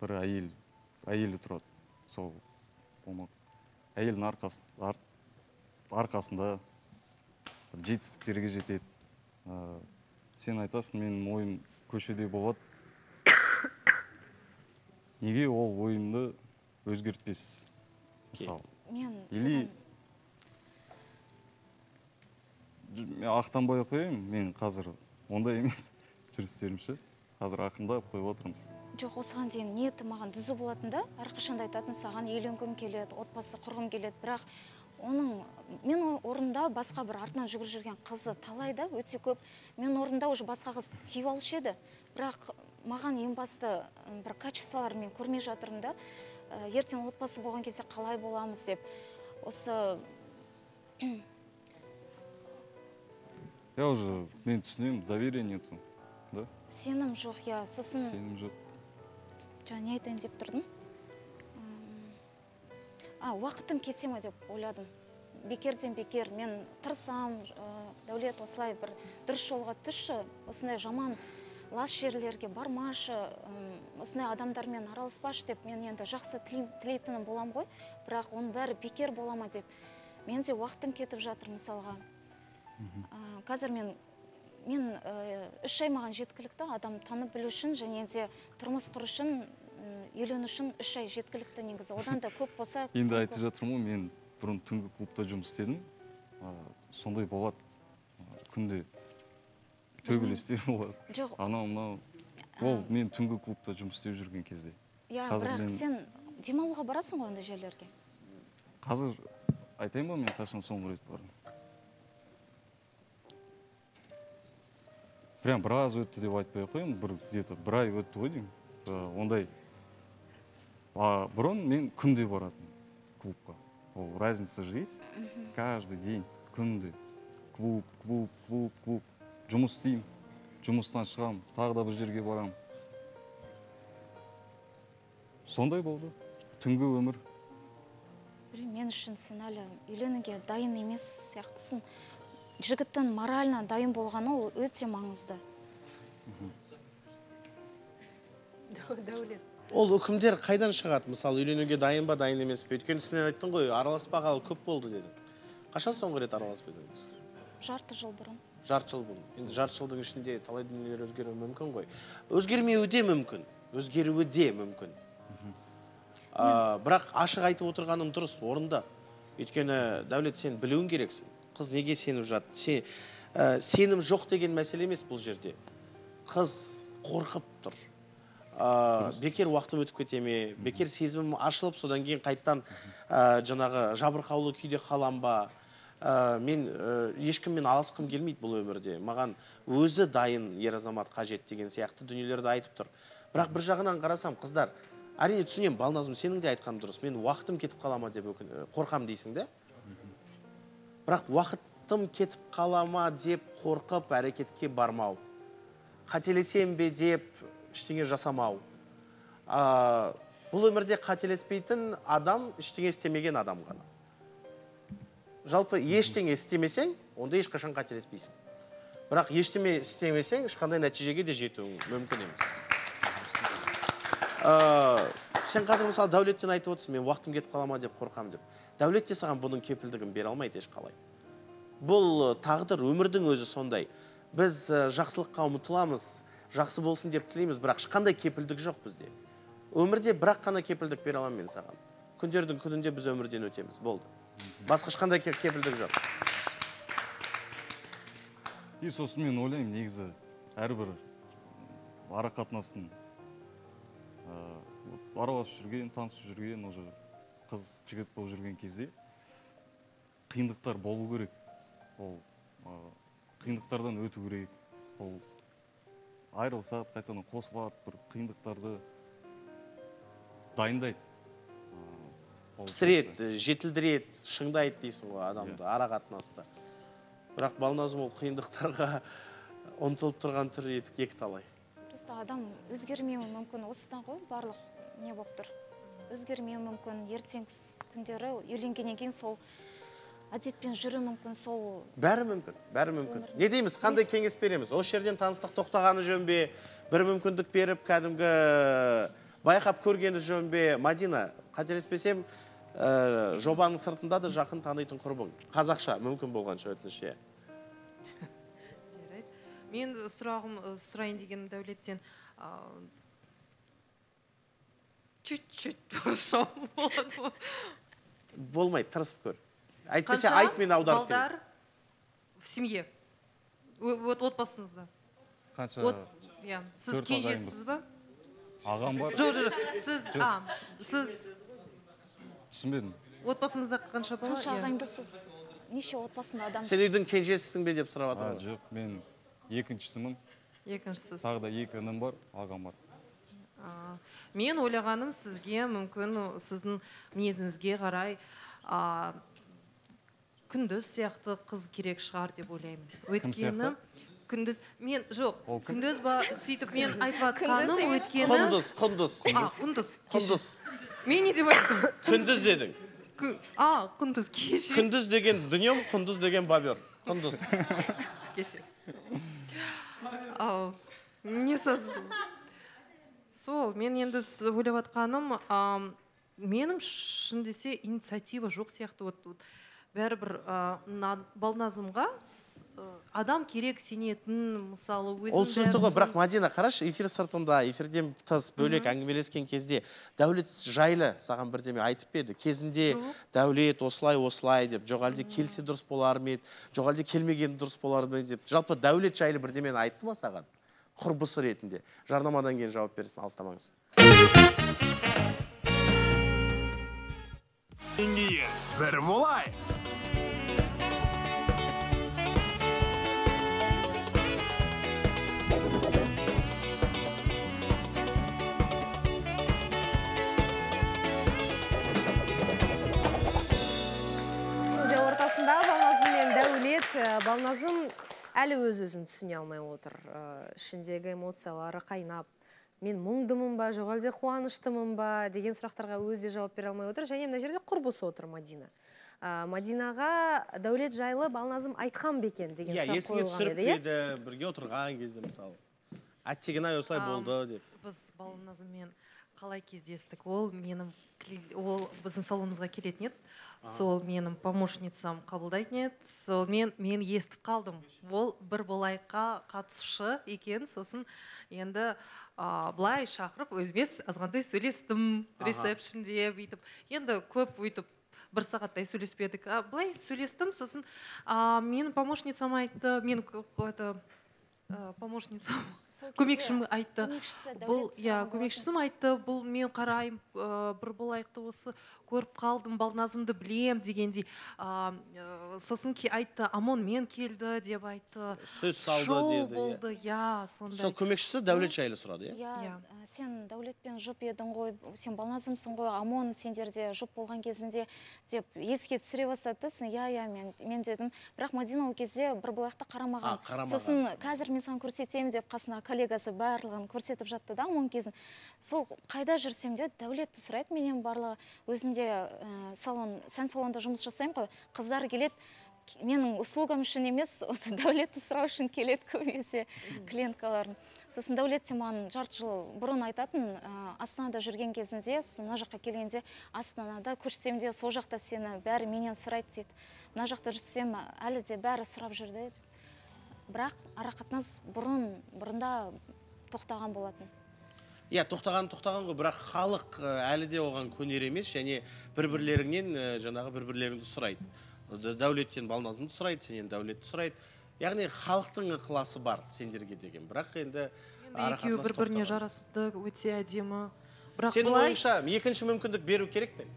бір әйелі тұрады. Сол болмақ. Әйелдің арқасында жетістіктерге жетеді. Сен айтасың, менің ойым көшеде болады. Неге ол ойымды өзгертпес? Мысалы. Или мен ақтанбай қояйын, мен қазір ондай емес жүрістерімші. Қазір ақындап қойып отырмыз. Жоқ, осыған дейін ниеті маған дүзі болатында, әрқашанда айтатын, саған үйленгім келеді, отбасы құрғым келеді, бірақ мен орында басқа бір артынан жүгіріп жүрген қызы талайда өте көп. Мен орында уже басқа қыз тиіп алушы еді, бірақ маған ең басты бір качестволар мен көрмей жатырмын да. Ертең отбасы болған кезде қалай боламыз деп. Осы Я уже мен түсінемін, доверие нету. Сенім жоқ, я сосын... Сенім жоқ. Жаңа не айтайын деп тұрдым? Уақытым кете ме деп ойладым. Бекерден бекер, мен тырысам, Дәулет осылай бір дұрыс жолға түсші, осындай жаман лас жерлерге бармашы, осындай адамдармен араласпашы деп, мен енді жақсы тілейтінім болам ғой, бірақ оның бәрі бекер болама деп. Мен де уақытым кетіп жатыр мысалға. Қазір мен 3 ай маған жеткілікті, адам танып білу үшін, және де тұрмыс құру үшін, үйлену үшін 3 ай жеткілікті негізі. Одан да көп болса... Енді айтып жатырмын, мен бұрын түнгі клубта жұмыс істедім. Сондай болады. Күнде төбелестер болады. Анау. Ол мен түнгі клубта жұмыс істеп жүрген кезде. Бірақ сен демалуға барасың ғой ондай жерлерге? Қазір айтайын ба, мен қашан соңғы рет бардым. Прям біраз өтті деп айтпай қойым, бір ай өтті ғой деймін. Ондай, бұрын мен күнде баратын клубқа. Ол разница же есть. Каждый день, күнде. Клуб. Жұмыс істеймін, жұмыстан шығам, тағы да бір жерге барам. Сондай болды. Түнгі өмір. Мен үшін сен әлі үйленуге дайын емес сияқтысың. Жігіттің морально дайын болғаны ол өте маңызды. Дәулет. Ол үкімдер қайдан шығады? Мысалы, үйленуге дайын ба, дайын емес пе? Өйткені сен айттың ғой, араласпағалы көп болды деді. Қашан соңғы рет араласып едіңіз? Жарты жыл бұрын. Жарты жыл бұрын. Енді жарты жылдың ішінде талай дүниелер өзгеруі мүмкін ғой. Өзгермеуі де мүмкін. Өзгеруі де мүмкін. Бірақ ашық айтып отырғаным дұрыс, орында. Өйткені Дәулет, сен білуің керексің. Қыз неге сеніп жатыр? Сенім жоқ деген мәселе емес бұл жерде. Қыз қорқып тұр. Бекер уақытым өтіп кете ме? Бекер сезімім ашылып, содан кейін қайттан жаңағы жабырқаулы күйде қалам ба? Мен ешкіммен алысқым келмейді бұл өмірде. Маған өзі дайын ер азамат қажет деген сияқты дүниелерді айтып тұр. Бірақ бір жағынан қарасам, қыздар, әрине түсінем, Балназым, сенің де айтқан дұрыс. Мен уақытым кетіп қалама деп қорқам дейсің де. Бірақ уақытым кетіп қалама деп қорқып әрекетке бармау. Қателесем бе деп ештеңе жасамау. Бұл өмірде қателеспейтін адам ештеңе істемеген адам ғана. Жалпы ештеңе істемесең, онда ешқашан қателеспейсің. Бірақ ештеңе істемесең, ешқандай нәтижеге де жетуің мүмкін емес. Сен қазір мысалы Дәулеттен айтып отырсың, мен уақытым кетіп қалама деп қорқам деп. Дәулет те саған бұның кепілдігін бере алмайды ешқалай. Бұл тағдыр, өмірдің өзі сондай. Біз жақсылыққа ұмытыламыз, жақсы болсын деп тілейміз, бірақ ешқандай кепілдік жоқ бізде. Өмірде бірақ қана кепілдік бере аламын мен саған. Күндердің күнінде біз өмірден өтеміз, болды. Басқа ешқандай кепілдік жоқ. И сосын мен ойлаймын, негізі әрбір ара қатынастың араласып жүрген, танысып жүрген, уже қыз жігіт болып жүрген кезде қиындықтар болу керек. Ол қиындықтардан өту керек. Ол айырылсады, қайтадан қосылады, бір қиындықтарды дайындайды. Пісіреді, жетілдіреді, шыңдайды дейсің ғой адамды, ара қатынаста. Бірақ Балназым ол қиындықтарға ұмтылып тұрған түрі екі талай. Просто адам өзгермеуі мүмкін, осыдан ғой барлық не болып тұр. Өзгермеуі мүмкін, ертең күндері үйленгеннен кейін сол әдетпен жүру мүмкін, сол... Бәрі мүмкін, бәрі мүмкін. Не дейміз, қандай кеңес береміз? Осы жерден таныстық тоқтағаны жөн бе, бір мүмкіндік беріп, кәдімгі байқап көргені жөн бе? Мадина, қателеспесем, жобаның сыртында да жақын танитын құрбың. Қазақша мүмкін болғанша өтініш. Мен сұрайын деген Дәулеттен чуть-чуть бұрышам болады. Болмайды, тырысып көр. Айтпесе айт, мен аударып берем. Балдар в семье, отбасыңызда. Қанша? Сіз кенжесіз ба? Ағам бар. Сіз түсінбедім. Отбасыңызда қанша бала? Қанша ағайындысыз? Неше отбасында адам? Сен үйдің кенжесісің бе деп сұрап жатыр. Жоқ, мен екіншісімін. Екіншісіз. Тағы да екі інім бар, ағам бар. Мен ойлағаным сізге мүмкін сіздің мінезіңізге қарай күндіз сияқты қыз керек шығар деп ойлаймын. Өйткені күндіз мен жоқ, күндіз ба сөйтіп мен айтып жатқаным өйткені Құндыз. Мен не деп айттым? Күндіз дедің. Құндыз кеше. Күндіз деген дүнием, құндыз деген бабер. Құндыз. Кеше. Не сіз? Сол, мен енді ойлап жатқаным, менің шын десе инициатива жоқ сияқты. Бәрібір Балназымға адам керек сенетін, мысалы, өзін... Ол түсінікті ғой, бірақ Мадина, қарашы, эфир сыртында, эфирден тыс бөлек әңгімелескен кезде Дәулет жайлы саған бірдеме айтып беді. Кезінде Дәулет осылай деп, жоқ әлде келсе дұрыс болар ма еді, жоқ әлде келмеген дұрыс болар ма деп. Жалпы Дәулет жайлы бірдемені айтты ма саған? Құрбысы ретінде. Жарнамадан кейін жауап берсін, алыстамаңыз. Бір молай! Студия ортасында Балназым мен Дәулет. Балназым әлі өз-өзін түсіне алмай отыр. Ішіндегі эмоциялары қайнап, мен мұңдымын ба, жоқ әлде қуаныштымын ба деген сұрақтарға өзі жауап бере алмай отыр. Және мына жерде құрбысы отыр Мадина. Мадинаға Дәулет жайлы Балназым айтқан бекен деген сұрақ қойылған еді. Есіңе түсіріп еді, бірге отырған кезде мысалы. Әттеген-ай осылай болды деп. Біз Балназыммен қалай кездестік? Ол біздің салонымызға келетін еді. Сол менің помощницам қабылдайтын еді. Сол мен естіп қалдым. Ол бір болайыққа қатысушы екен. Сосын енді былай шақырып өзіміз азғандай сөйлестім. Ресепшнде бүйтіп. Енді көп өйтіп бір сағаттай сөйлеспедік. Былай сөйлестім, сосын менің помощницам айтты, мен помощницам, көмекшім айтты. Көмекшісім айтты, бұл мен қарайым, бір болайықты осы көріп қалдым, Балназымды білем дегендей. Сосын айтты, Амон мен келді деп айтты. Сөз салды деді. Шоу болды, сондай. Сол көмекшісі Дәулет жайлы сұрады, Сен Дәулетпен жұп едің ғой, сен Балназымсың ғой, Амон сендерде жұп болған кезінде деп еске түсіре бастады. Мен дедім, бірақ Мадина ол кезде бір болайықты қарамаған. Сосын қазір мен саған көрсетемін деп қасына коллегасы барлығын көрсетіп жатты да, Амон кезін. Сол қайда жүрсем де Дәулетті сұрайды менен барлығы. Өзімде сән салонда жұмыс жасаймын ғой, қыздар келеді, менің услугам үшін емес, осы Дәулетті сұрау үшін келеді көбінесе клиенткаларын. Сосын Дәулет маған жарты жыл бұрын айтатын, Астанада жүрген кезінде, мына жаққа келгенде, Астанада көшсем де сол жақта сені бәрі менен сұрайды дейді. Мына жақта жүрсем әлі де бәрі сұрап жүрді. Бірақ арақатынас бұрында тоқтаған болатын. Тоқтаған ғой, бірақ халық әлі де оған көнер емес, және бір-бірлеріңнен жаңағы бір-бірлеріңді сұрайды. Дәулеттен Балназымды сұрайды, сенен Дәулетті сұрайды. Яғни халықтың ықыласы бар сендерге деген. Бірақ енді екеуі бір-біріне жарасыпты, өте әдемі. Сенің ойыңша екінші мүмкіндік беру керек пе?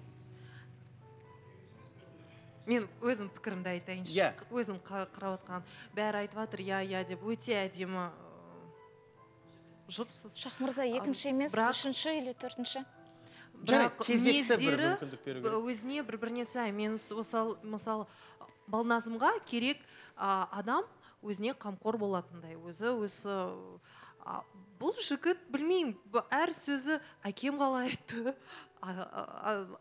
Мен өзім пікірімді айтайыншы. Өзім қарап отқан. Бәрі айтып жатыр, деп өте әдемі жұпсыз. Шахмырза екінші емес, үшінші или төртінші? Бірақ мінездері өзіне бір-біріне сай. Мен мысалы Балназымға керек адам өзіне қамқор болатындай. Бұл жігіт білмеймін, әр сөзі әкем қалай айтты,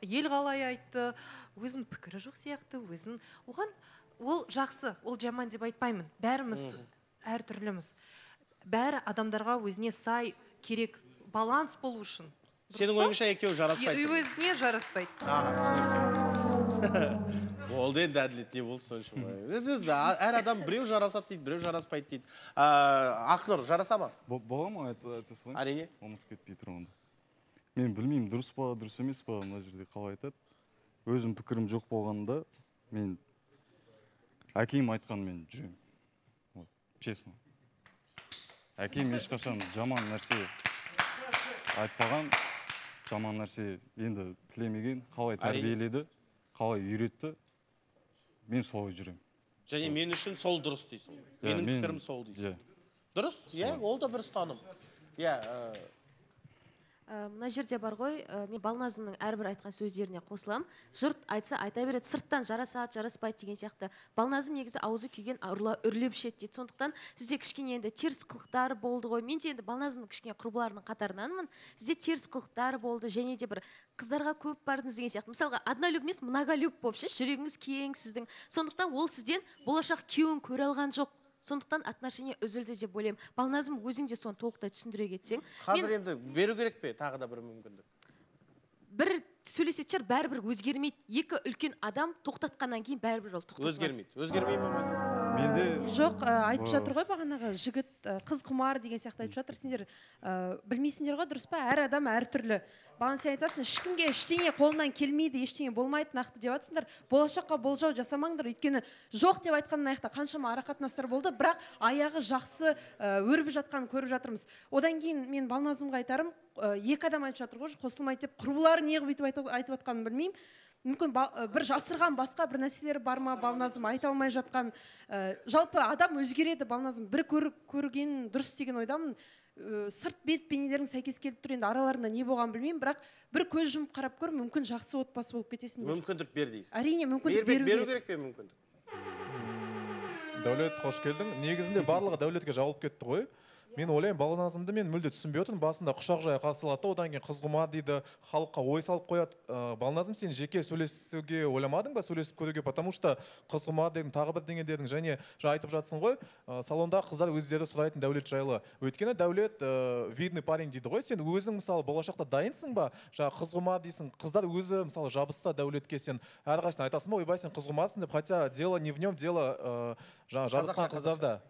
ел қалай айтты, өзінің пікірі жоқ сияқты, оған ол жақсы, ол жаман деп айтпаймын. Бәріміз әр түрліміз. Бәрі адамдарға өзіне сай керек, баланс болу үшін. Сенің ойыңша екеуі жараспайды? Өзіне жараспайды. Олды енді әділет не болды сонша. Әр адам біреу жарасады дейді, біреу жараспайды дейді. Ақнұр, жараса ма? Бола ма, айта салайын? Әрине. Ұмытып кетпей тұрғанда. Мен білмеймін, дұрыс па, дұрыс емес па, мына жерде қалай айтады. Өзім пікірім жоқ болғанда, мен әкем айтқан мен жүремін. Честно. Әкем ешқашан жаман нәрсе айтпаған, жаман нәрсе енді тілемеген, қалай тәрбиеледі, қалай үйретті, мен солай жүремін. Және мен үшін сол дұрыс дейсің. Менің пікірім сол дейсің. Дұрыс? Ол да бір ұстаным. Мына жерде бар ғой, мен Балназымның әрбір айтқан сөздеріне қосылам. Жұрт айтса айта береді, сырттан жарасады, жараспайды деген сияқты. Балназым негізі аузы күйген үрлеп ішеді дейді. Сондықтан сізде кішкене енді теріс қылықтар болды ғой. Мен де енді Балназымның кішкене құрбыларының қатарынанмын. Сізде теріс қылықтар болды, және де бір қыздарға көп бардыңыз деген сияқты. Мысалға, однолюб емес, многолюб болып ше, жүрегіңіз кең сіздің. Сондықтан ол сізден болашақ күйеуін көре алған жоқ. Сондықтан отношение үзілді деп ойлаймын. Балназым, өзің де соны толықтай түсіндіре кетсең. Қазір енді беру керек пе тағы да бір мүмкіндік? Бір сөйлесетін шығар, бәрібір өзгермейді. Екі үлкен адам тоқтатқаннан кейін бәрібір ол тоқтатылады. Өзгермей ме? Жоқ, айтып жатыр ғой бағанағы жігіт қыз құмар деген сияқты айтып жатыр. Сендер білмейсіңдер ғой, дұрыс па? Әр адам әртүрлі. Бағана сен айтасың, ешкімге ештеңе қолынан келмейді, ештеңе болмайды нақты деп жатсыңдар. Болашаққа болжау жасамаңдар, өйткені жоқ деп айтқаннан аяқта қаншама арақатынастар болды, бірақ аяғы жақсы өрбіп жатқанын көріп жатырмыз. Одан кейін мен Балназымға айтарым, екі адам айтып жатыр ғой, қосылмайды деп, құрбылары неғып айтып жатқанын білмеймін. Мүмкін бір жасырған басқа бір нәрселері бар ма, Балназым айта алмай жатқан. Жалпы адам өзгереді, Балназым. Бір көрген дұрыс деген ойдамын. Сырт бет бейнелерің сәйкес келіп тұр, енді араларында не болған білмеймін, бірақ бір көз жұмып қарап көр, мүмкін жақсы отбасы болып кетесің. Мүмкіндік бер дейсің. Әрине, мүмкіндік беру керек пе мүмкіндік? Дәулет, қош келдің. Негізінде барлығы Дәулетке жауап кетті ғой. Мен ойлаймын, Балназымды мен мүлде түсінбей отырмын. Басында құшақ жая қарсы алады, одан кейін қыз құмар дейді, халыққа ой салып қояды. Балназым, сен жеке сөйлесуге ойламадың ба, сөйлесіп көруге, потому что қыз құмар дедің, тағы бірдеңе дедің, және айтып жатсың ғой, салонда қыздар өздері сұрайтын Дәулет жайлы. Өйткені Дәулет видный парень дейді ғой, сен өзің мысалы болашақта дайынсың ба, қыз құмар дейсің, қыздар өзі мысалы жабысса Дәулетке, сен әрқайсысын айтасың ба, ойбай, сен қыз құмарсың деп, хотя дело не в нем, дело жазысқан қыздарда.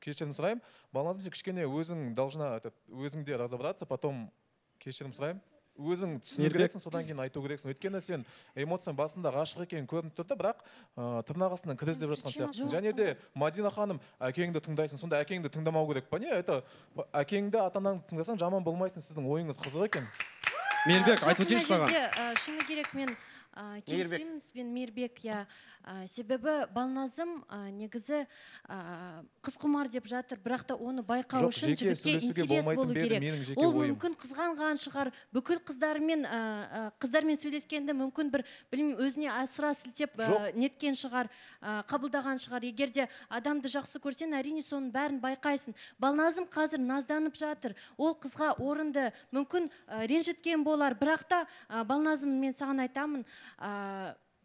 Кешірім сұрайым. Балназым, сен кішкене өзің должна өзіңде разобраться, потом кешірім сұрайым. өзің түсіну керексің, содан кейін айту керексің. Өйткені сен эмоцияң басында ғашық екенін көрініп тұрды, бірақ тырнақ астынан кір іздеп жатқан сияқтысың. Және де Мадина ханым, әкеңді тыңдайсың, сонда әкеңді тыңдамау керек па не? Это әкеңді ата-анаңды тыңдасаң жаман болмайсың, сіздің ойыңыз қызық екен. Мейірбек, айтып өтейінші саған. Шыны керек, мен келіспеймін сізбен, Мейірбек, себебі Балназым негізі қызқұмар деп жатыр, бірақ та оны байқау үшін жігітке интерес болу керек. Ол мүмкін қызғанған шығар, бүкіл қыздармен сөйлескенді мүмкін бір өзіне асыра сілтеп неткен шығар, қабылдаған шығар. Егер де адамды жақсы көрсең, әрине соның бәрін байқайсың. Балназым қазір назданып жатыр, ол қызға орынды мүмкін ренжіткен болар, бірақ та Балназым, мен саған айтамын,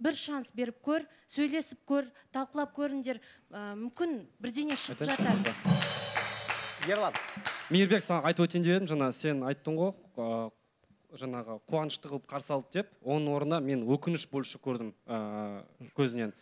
бір шанс беріп көр, сөйлесіп көр, талқылап көріңдер, мүмкін бірдеңе шығып жатар. Ерлан. Мейірбек, саған айтып өтейін деп едім, жаңа сен айттың ғой, жаңағы қуанышты қылып қарсы алды деп, оның орнына мен өкініш больше көрдім көзінен.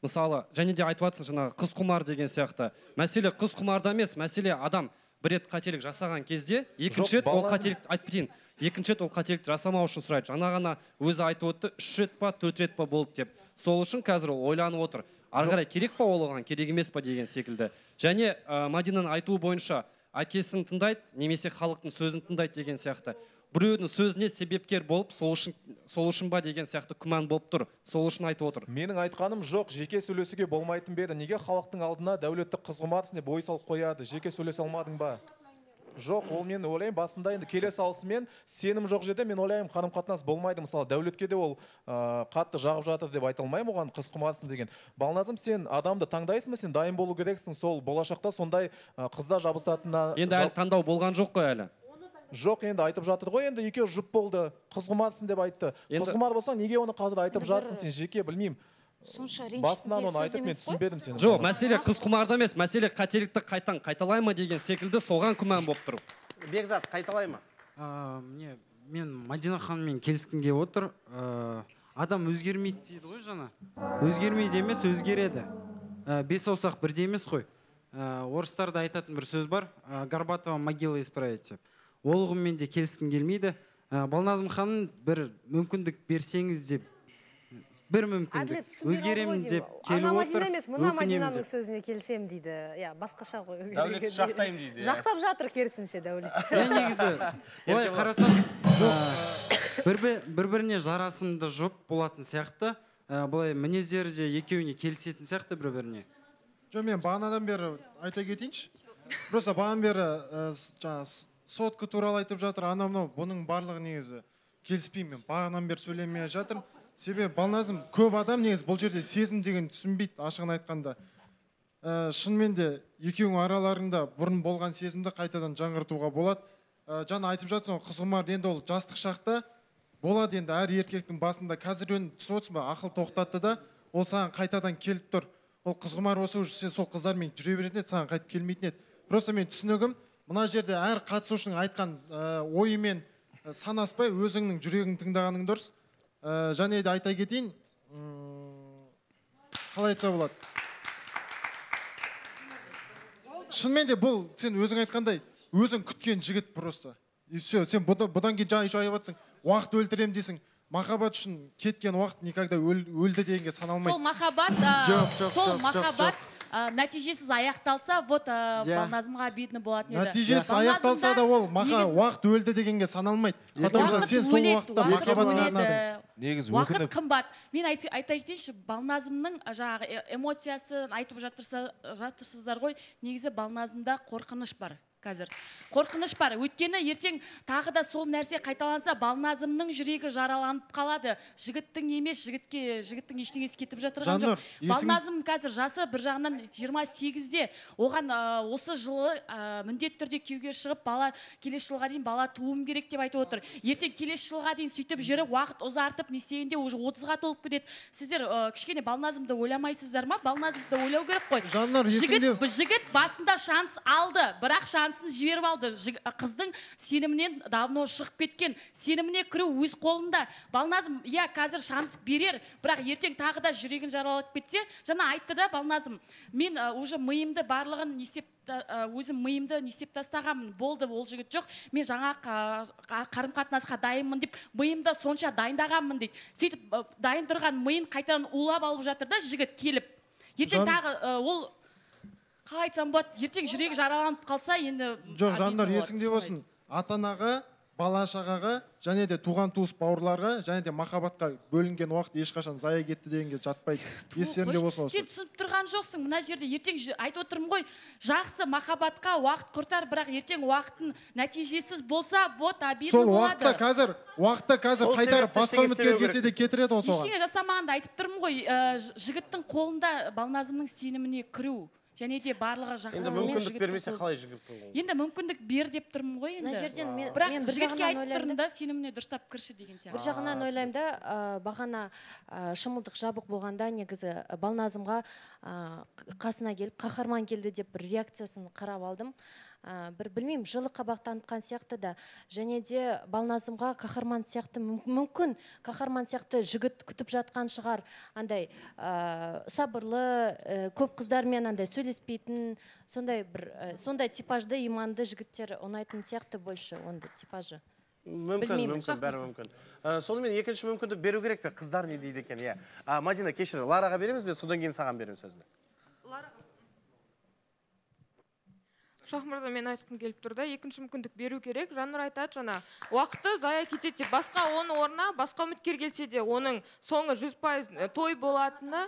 Мысалы, және де айтып жатсың жаңағы қыз құмар деген сияқты. Мәселе қыз құмарда емес, мәселе адам бір рет қателік жасаған кезде, екінші рет ол қателікті айтып кетейін. Екінші рет ол қателікті жасамау үшін сұрайды. Жаңа ғана өзі айтып өтті, 3 рет па, 4 рет па болды деп. Сол үшін қазір ол ойланып отыр. Ары қарай керек па ол оған, керек емес па деген секілді. Және Мадинаның айтуы бойынша әкесін тыңдайды, немесе халықтың сөзін тыңдайды деген сияқты. Біреудің сөзіне себепкер болып, сол үшін ба деген сияқты күмән болып тұр. Сол үшін айтып отыр. Менің айтқаным жоқ, жеке сөйлесуге болмайтын беді. Неге халықтың алдына дәулетті қызғыматсың деп ой салып қояды? Жеке сөйлесе алмадың ба? Жоқ, ол мен ойлаймын, басында енді келе салысымен сенім жоқ жерде мен ойлаймын, қарым-қатынас болмайды. Мысалы, дәулетке де ол қатты жағып жатыр деп айта алмаймын оған, қыз құмарсың деген. Балназым, сен адамды таңдайсың ба, сен дайын болу керексің, сол болашақта сондай қыздар жабысатынына. Енді әлі таңдау болған жоқ қой әлі. Жоқ, енді айтып жатыр ғой, енді екеуі жұп болды, қыз құмарсың деп айтты. Қыз құмар болсаң, неге оны қазір айтып жатсың, сен жеке білмеймін. Басынан оны айтып мен түсінбедім сені. Жоқ, мәселе қыз құмарда емес, мәселе қателікті қайталай ма деген секілді соған күмән болып тұр. Бекзат, қайталай ма? Мен Мадина ханыммен келіскімге отыр. Адам өзгермейді дейді ғой жаңа. Өзгермейді емес, өзгереді. Бес саусақ бірдей емес қой. Орыстарда айтатын бір сөз бар, Горбатова могила исправить деп. Ол ұғыммен де келіскім келмейді. Балназым ханым бір мүмкіндік берсеңіз деп, бір мүмкіндік өзгеремін деп келіп отыр. Мадина емес, мына Мадинаның сөзіне келсем дейді. Басқаша ғой. Дәулетті жақтаймын дейді. Жақтап жатыр керісінше Дәулет. Негізі, олай қарасам, бір-біріне жарасымды жұп болатын сияқты, бұлай мінездері де екеуіне келісетін сияқты бір-біріне. Жоқ, мен бағанадан бері айта кетейінші. Просто бағанадан бері сотка туралы айтып жатыр, анау-мынау, бұның барлығы негізі келіспеймін. Бағанадан бері сөйлемей жатыр. Себебі Балназым, көп адам негізі бұл жерде сезім деген түсінбейді, ашығын айтқанда. Шынымен де екеуің араларында бұрын болған сезімді қайтадан жаңғыртуға болады. Жаңа айтып жатсың, қыз құмар енді ол жастық шақта болады, енді әр еркектің басында қазір түсініп отырсың ба, ақыл тоқтатты да, ол саған қайтадан келіп тұр. Ол қыз құмар болса уже сен сол қыздармен жүре беретін еді, саған қайтып келмейтін еді. Просто мен түсінігім, мына жерде әр қатысушының айтқан ойымен санаспай өзіңнің жүрегің тыңдағаның дұрыс. Және де айта кетейін, қалай айтса болады. Шынымен де бұл, сен өзің айтқандай, өзің күткен жігіт просто. И все, сен бұдан кейін жаңа еще айтып жатсың, уақыт өлтірем дейсің. Махаббат үшін кеткен уақыт никогда өлді дегенге саналмайды. Сол махаббат нәтижесіз аяқталса, вот Балназымға обидно болатын еді. Нәтижесіз аяқталса да ол уақыт өлді дегенге саналмайды. Потому что сен сол уақытта махаббатына арнадың. Уақыт қымбат. Мен айта кетейінші, Балназымның жаңағы эмоциясын айтып жатырсыздар ғой, негізі Балназымда қорқыныш бар. Қазір қорқыныш бар. Өйткені ертең тағы да сол нәрсе қайталанса, Балназымның жүрегі жараланып қалады. Жігіттің емес, жігіттің ештеңесі кетіп жатырған жоқ. Балназым қазір жасы бір жағынан 28-де. Оған осы жылы міндетті түрде күйеуге шығып, келесі жылға дейін бала туым керек деп айтып отыр. Ертең келесі жылға дейін сөйтіп жүріп, уақыт ұзартып, не істегенде уже 30-ға толып кетеді. Сіздер кішкене Балназымды ойламайсыздар ма? Балназымды ойлау керек қой. Жігіт басында шанс алды, бірақ байланысын жіберіп алды. Қыздың сенімінен давно шығып кеткен. Сеніміне кіру өз қолында. Балназым, иә, қазір шанс берер, бірақ ертең тағы да жүрегін жаралап кетсе, жаңа айтты да Балназым, мен уже миымды барлығын өзім миымды несеп тастағанмын, болды, ол жігіт жоқ, мен жаңа қарым-қатынасқа дайынмын деп миымды сонша дайындағанмын дейді. Сөйтіп дайын тұрған миын қайтадан улап алып жатыр да жігіт келіп. Ертең тағы ол қалай айтсам болады, ертең жүрегі жараланып қалса, енді жоқ, жандар есіңде болсын, ата-анаға, бала-шағаға, және де туған-туыс бауырларға, және де махаббатқа бөлінген уақыт ешқашан зая кетті дегенге жатпайды. Естеріңде болсын осы. Сен түсініп тұрған жоқсың, мына жерде ертең айтып отырмын ғой, жақсы махаббатқа уақыт құртар, бірақ ертең уақыттың нәтижесіз болса, вот обидно болады. Сол уақытта қазір қайтарып басқа үміткер келсе де кетіреді ғой соған. Ештеңе жасамағанда айтып тұрмын ғой, жігіттің қолында Балназымның сеніміне кіру. Және де барлығы жақсы. Енді мүмкіндік бермесе қалай жігіттің қолында? Енді мүмкіндік бер деп тұрмын ғой енді. Бірақ жігітке айтып тұрмын да, сеніміне дұрыстап кірші деген сияқты. Бір жағынан ойлаймын да, бағана шымылдық жабық болғанда негізі Балназымға қасына келіп, қаһарман келді деп бір реакциясын қарап алдым. Бір білмеймін, жылы қабақ танытқан сияқты да, және де Балназымға қаһарман сияқты, мүмкін қаһарман сияқты жігіт күтіп жатқан шығар, андай сабырлы, көп қыздармен андай сөйлеспейтін, сондай типажды, иманды жігіттер ұнайтын сияқты больше ондай типажы. Мүмкін, бәрі мүмкін. Сонымен екінші мүмкіндік беру керек пе? Қыздар не дейді екен, иә. Мадина, кешір, Лараға береміз бе, содан кейін саған беремін сөзді. Шахмырда мен айтқым келіп тұрда, екінші мүмкіндік беру керек. Жаннұр айтады жаңа, уақыты зая кетеді деп, басқа оның орнына, басқа үміткер келсе де, оның соңы 100% той болатыны,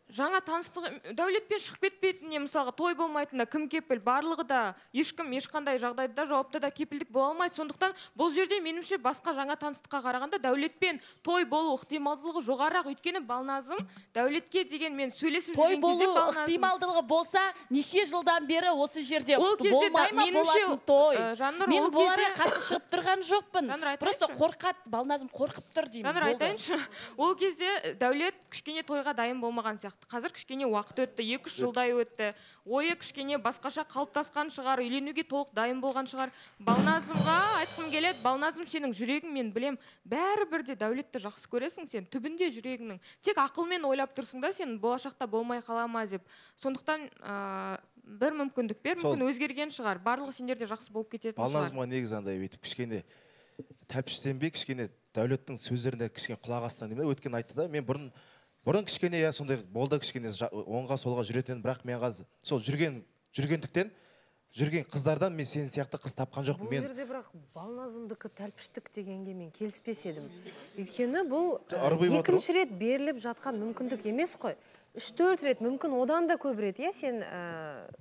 жаңа таныстық Дәулетпен шығып кетпейтініне, мысалға той болмайтынына кім кепіл? Барлығы да ешкім ешқандай жағдайда жауапты да кепілдік бола алмайды. Сондықтан бұл жерде меніңше басқа жаңа таныстыққа қарағанда Дәулетпен той болу ықтималдылығы жоғарақ. Өйткені Балназым Дәулетке деген мен сөйлесіп жүрген кезде той болу ықтималдылығы болса, неше жылдан бері осы жерде болмай ма болатын той? Мен боларға қарсы шығып тұрған жоқпын. Просто қорқады, Балназым қорқып тұр деймін. Жаннұр айтайыншы, ол кезде Дәулет кішкене тойға дайын болмаған сияқты. Қазір кішкене уақыт өтті, 2-3 жылдай өтті. Ойы кішкене басқаша қалыптасқан шығар, үйленуге толық дайын болған шығар. Балназымға айтқым келеді, Балназым сенің жүрегің, мен білем, бәрібір де Дәулетті жақсы көресің сен, түбінде жүрегіңнің. Тек ақылмен ойлап тұрсың да, сен болашақта болмай қалама деп. Сондықтан бір мүмкіндік бер, мүмкін өзгерген шығар. Барлығы сендерде жақсы болып кететін шығар. Балназымға негізі андай өйтіп кішкене тәпіштенбей, кішкене Дәулеттің сөздеріне кішкене құлақ астан деймін. Өткен айтты да, мен бұрын кішкене сондай болды, кішкене оңға солға жүретін, бірақ мен қазір сол жүргендіктен жүрген қыздардан мен сен сияқты қыз тапқан жоқпын. Бұл жерде бірақ Балназымдікі тәлпіштік дегенге мен келіспес едім. Өйткені бұл екінші рет беріліп жатқан мүмкіндік емес қой. 3-4 рет, мүмкін одан да көп рет, сен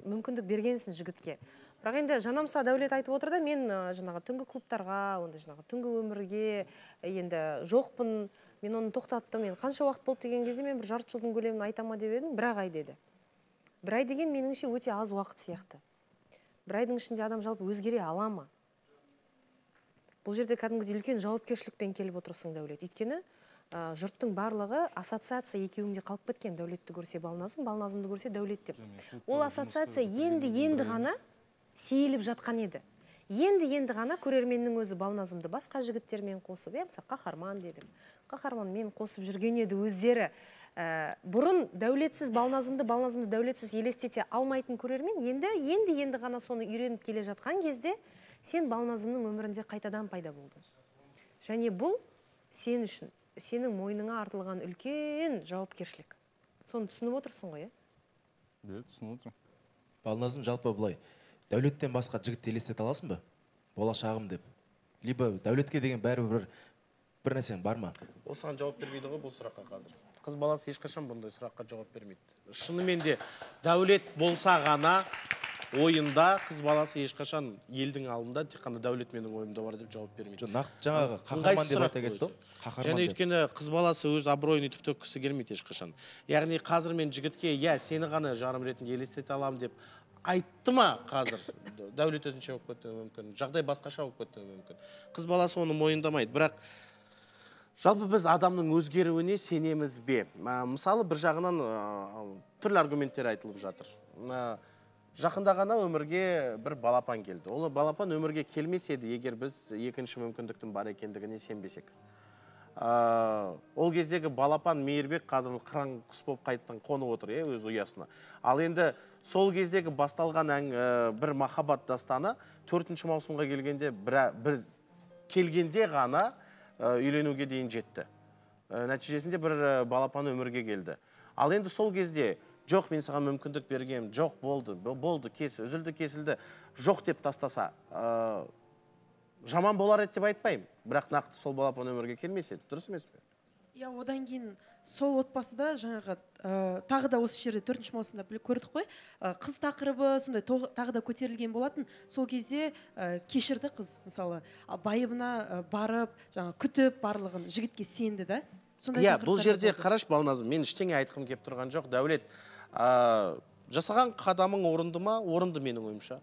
мүмкіндік бергенсің жігітке. Бірақ енді жанамса Дәулет айтып отыр да, мен жаңағы түнгі клубтарға, онда жаңағы түнгі өмірге енді жоқпын, мен оны тоқтаттым, мен қанша уақыт болды деген кезде мен бір жарты жылдың көлемін айтама деп едім, 1 ай деді. 1 ай деген меніңше өте аз уақыт сияқты. 1 айдың ішінде адам жалпы өзгере ала ма? Бұл жерде кәдімгідей үлкен жауапкершілікпен келіп отырсың Дәулет. Өйткені жұрттың барлығы ассоциация екеуінде қалып кеткен. Дәулетті көрсе Балназым, Балназымды көрсе Дәулет деп. Ол ассоциация енді ғана сейіліп жатқан еді. Енді ғана көрерменнің өзі Балназымды басқа жігіттермен қосып, мысалы қаһарман дедім. Қаһарманмен қосып жүрген еді өздері. Бұрын Дәулетсіз Балназымды Дәулетсіз елестете алмайтын көрермен, енді ғана соны үйреніп келе жатқан кезде сен Балназымның өмірінде қайтадан пайда болдың. Және бұл сен үшін, сенің мойныңа артылған үлкен жауапкершілік. Соны түсініп отырсың ғой, түсініп отырмын. Балназым жалпы бұлай Дәулеттен басқа жігітті елестете аласың ба? Болашағым деп. Либо Дәулетке деген бәрібір бір нәрсең бар ма? Осыған жауап бермейді ғой бұл сұраққа қазір. Қыз баласы ешқашан бұндай сұраққа жауап бермейді. Шынымен де Дәулет болса ғана ойында қыз баласы ешқашан елдің алдында тек қана Дәулет менің ойымда бар деп жауап бермейді. Жаңағы қаһарман деп айта кетті. Және өйткені қыз баласы өз абыройын үтіп төккісі келмейді ешқашан. Яғни қазір мен жігітке, сені ғана жарым ретінде елестете аламын деп айтты ма қазір? Дәулет өзінше болып кетуі мүмкін, жағдай басқаша болып кетуі мүмкін. Қыз баласы оны мойындамайды. Бірақ жалпы біз адамның өзгеруіне сенеміз бе? Мысалы бір жағынан түрлі аргументтер айтылып жатыр. жақында ғана өмірге бір балапан келді. Ол балапан өмірге келмес еді, егер біз екінші мүмкіндіктің бар екендігіне сенбесек. Ол кездегі балапан Мейірбек қазір қыран құс болып қайттан қонып отыр, өз ұясына. Ал енді сол кездегі басталған бір махаббат дастаны 4-ші маусымға келгенде ғана үйленуге дейін жетті. Нәтижесінде бір балапан өмірге келді. Ал енді сол кезде жоқ, мен саған мүмкіндік бергем, жоқ, болды, үзілді, кесілді, жоқ деп тастаса, жаман болар еді деп айтпаймын. Бірақ нақты сол балапан өмірге келмес еді, дұрыс емес пе? Иә, одан кейін сол отбасыда жаңағы тағы да осы жерде 4-ші маусымда көрдік қой, қыз тақырыбы сондай тағы да көтерілген болатын. Сол кезде кешірді қыз, мысалы, байыбына барып, жаңа күтіп барлығын жігітке сенді да. Иә, бұл жерде қараш Балназым, мен ештеңе айтқым кеп тұрған жоқ. Дәулет, жасаған қадамың орынды ма? Орынды менің ойымша.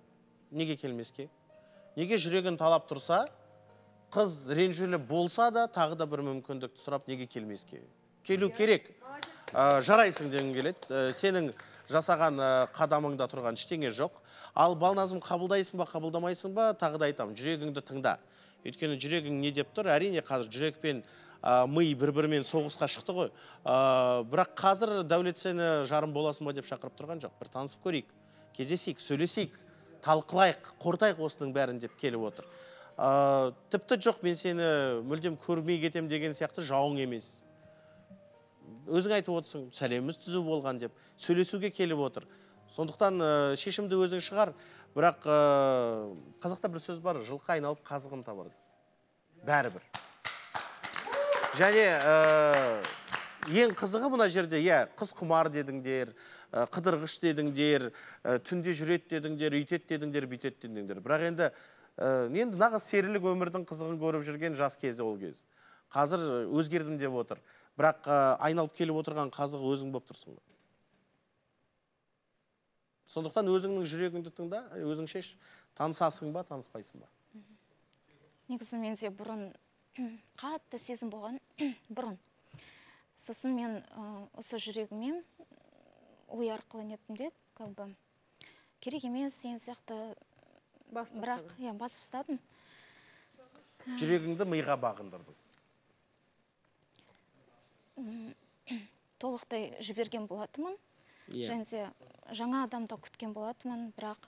Неге келмеске? Неге жүрегін талап тұрса, қыз ренжулі болса да, тағы да бір мүмкіндікті сұрап, неге келмеске? Келу керек. Жарайсың дегім келеді. Сенің жасаған қадамыңда тұрған ештеңе жоқ. Ал Балназым, қабылдайсың ба, қабылдамайсың ба, тағы да айтамын, жүрегіңді тыңда. Өйткені жүрегің не деп тұр? Әрине қазір жүрекпен ми бір-бірімен соғысқа шықты ғой. Бірақ қазір Дәулет сені жарым боласың ба деп шақырып тұрған жоқ. Бір танысып көрейік, кездесейік, сөйлесейік, талқылайық, қортайық осының бәрін деп келіп отыр. Тіпті жоқ, мен сені мүлдем көрмей кетем деген сияқты жауың емес. Өзің айтып отырсың, сәлеміміз түзу болған деп, сөйлесуге келіп отыр. Сондықтан шешімді өзің шығар. Бірақ қазақта бір сөз бар, жылқы айналып қазығын табады. Бәрібір. Және ең қызығы мына жерде, қыз құмар дедіңдер, қыдырғыш дедіңдер, түнде жүрет дедіңдер, үйтет дедіңдер, бүйтет дедіңдер. Бірақ енді нағыз серілік өмірдің қызығын көріп жүрген жас кезі ол кез. Қазір өзгердім деп отыр. Бірақ айналып келіп отырған қазығы өзің болып тұрсың. Сондықтан өзіңнің жүрегіңді тыңда, өзің шеш, танысасың ба, таныспайсың ба? Негізі менде бұрын қатты сезім болған, бұрын. Сосын мен осы жүрегіме ой арқылы неттім де, керек емес, сен сияқты бірақ басып ұстадым. Жүрегіңді миға бағындырдың. Толықтай жіберген болатымын. Және жаңа адамда күткен болатымын, бірақ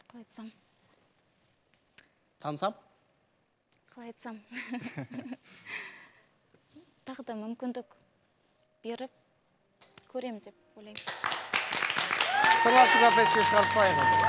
қалай айтсам? Тансам? Қалай айтсам? Тағы да мүмкіндік беріп көрем деп ойлаймын. Сырласуға песке шығарып салайын.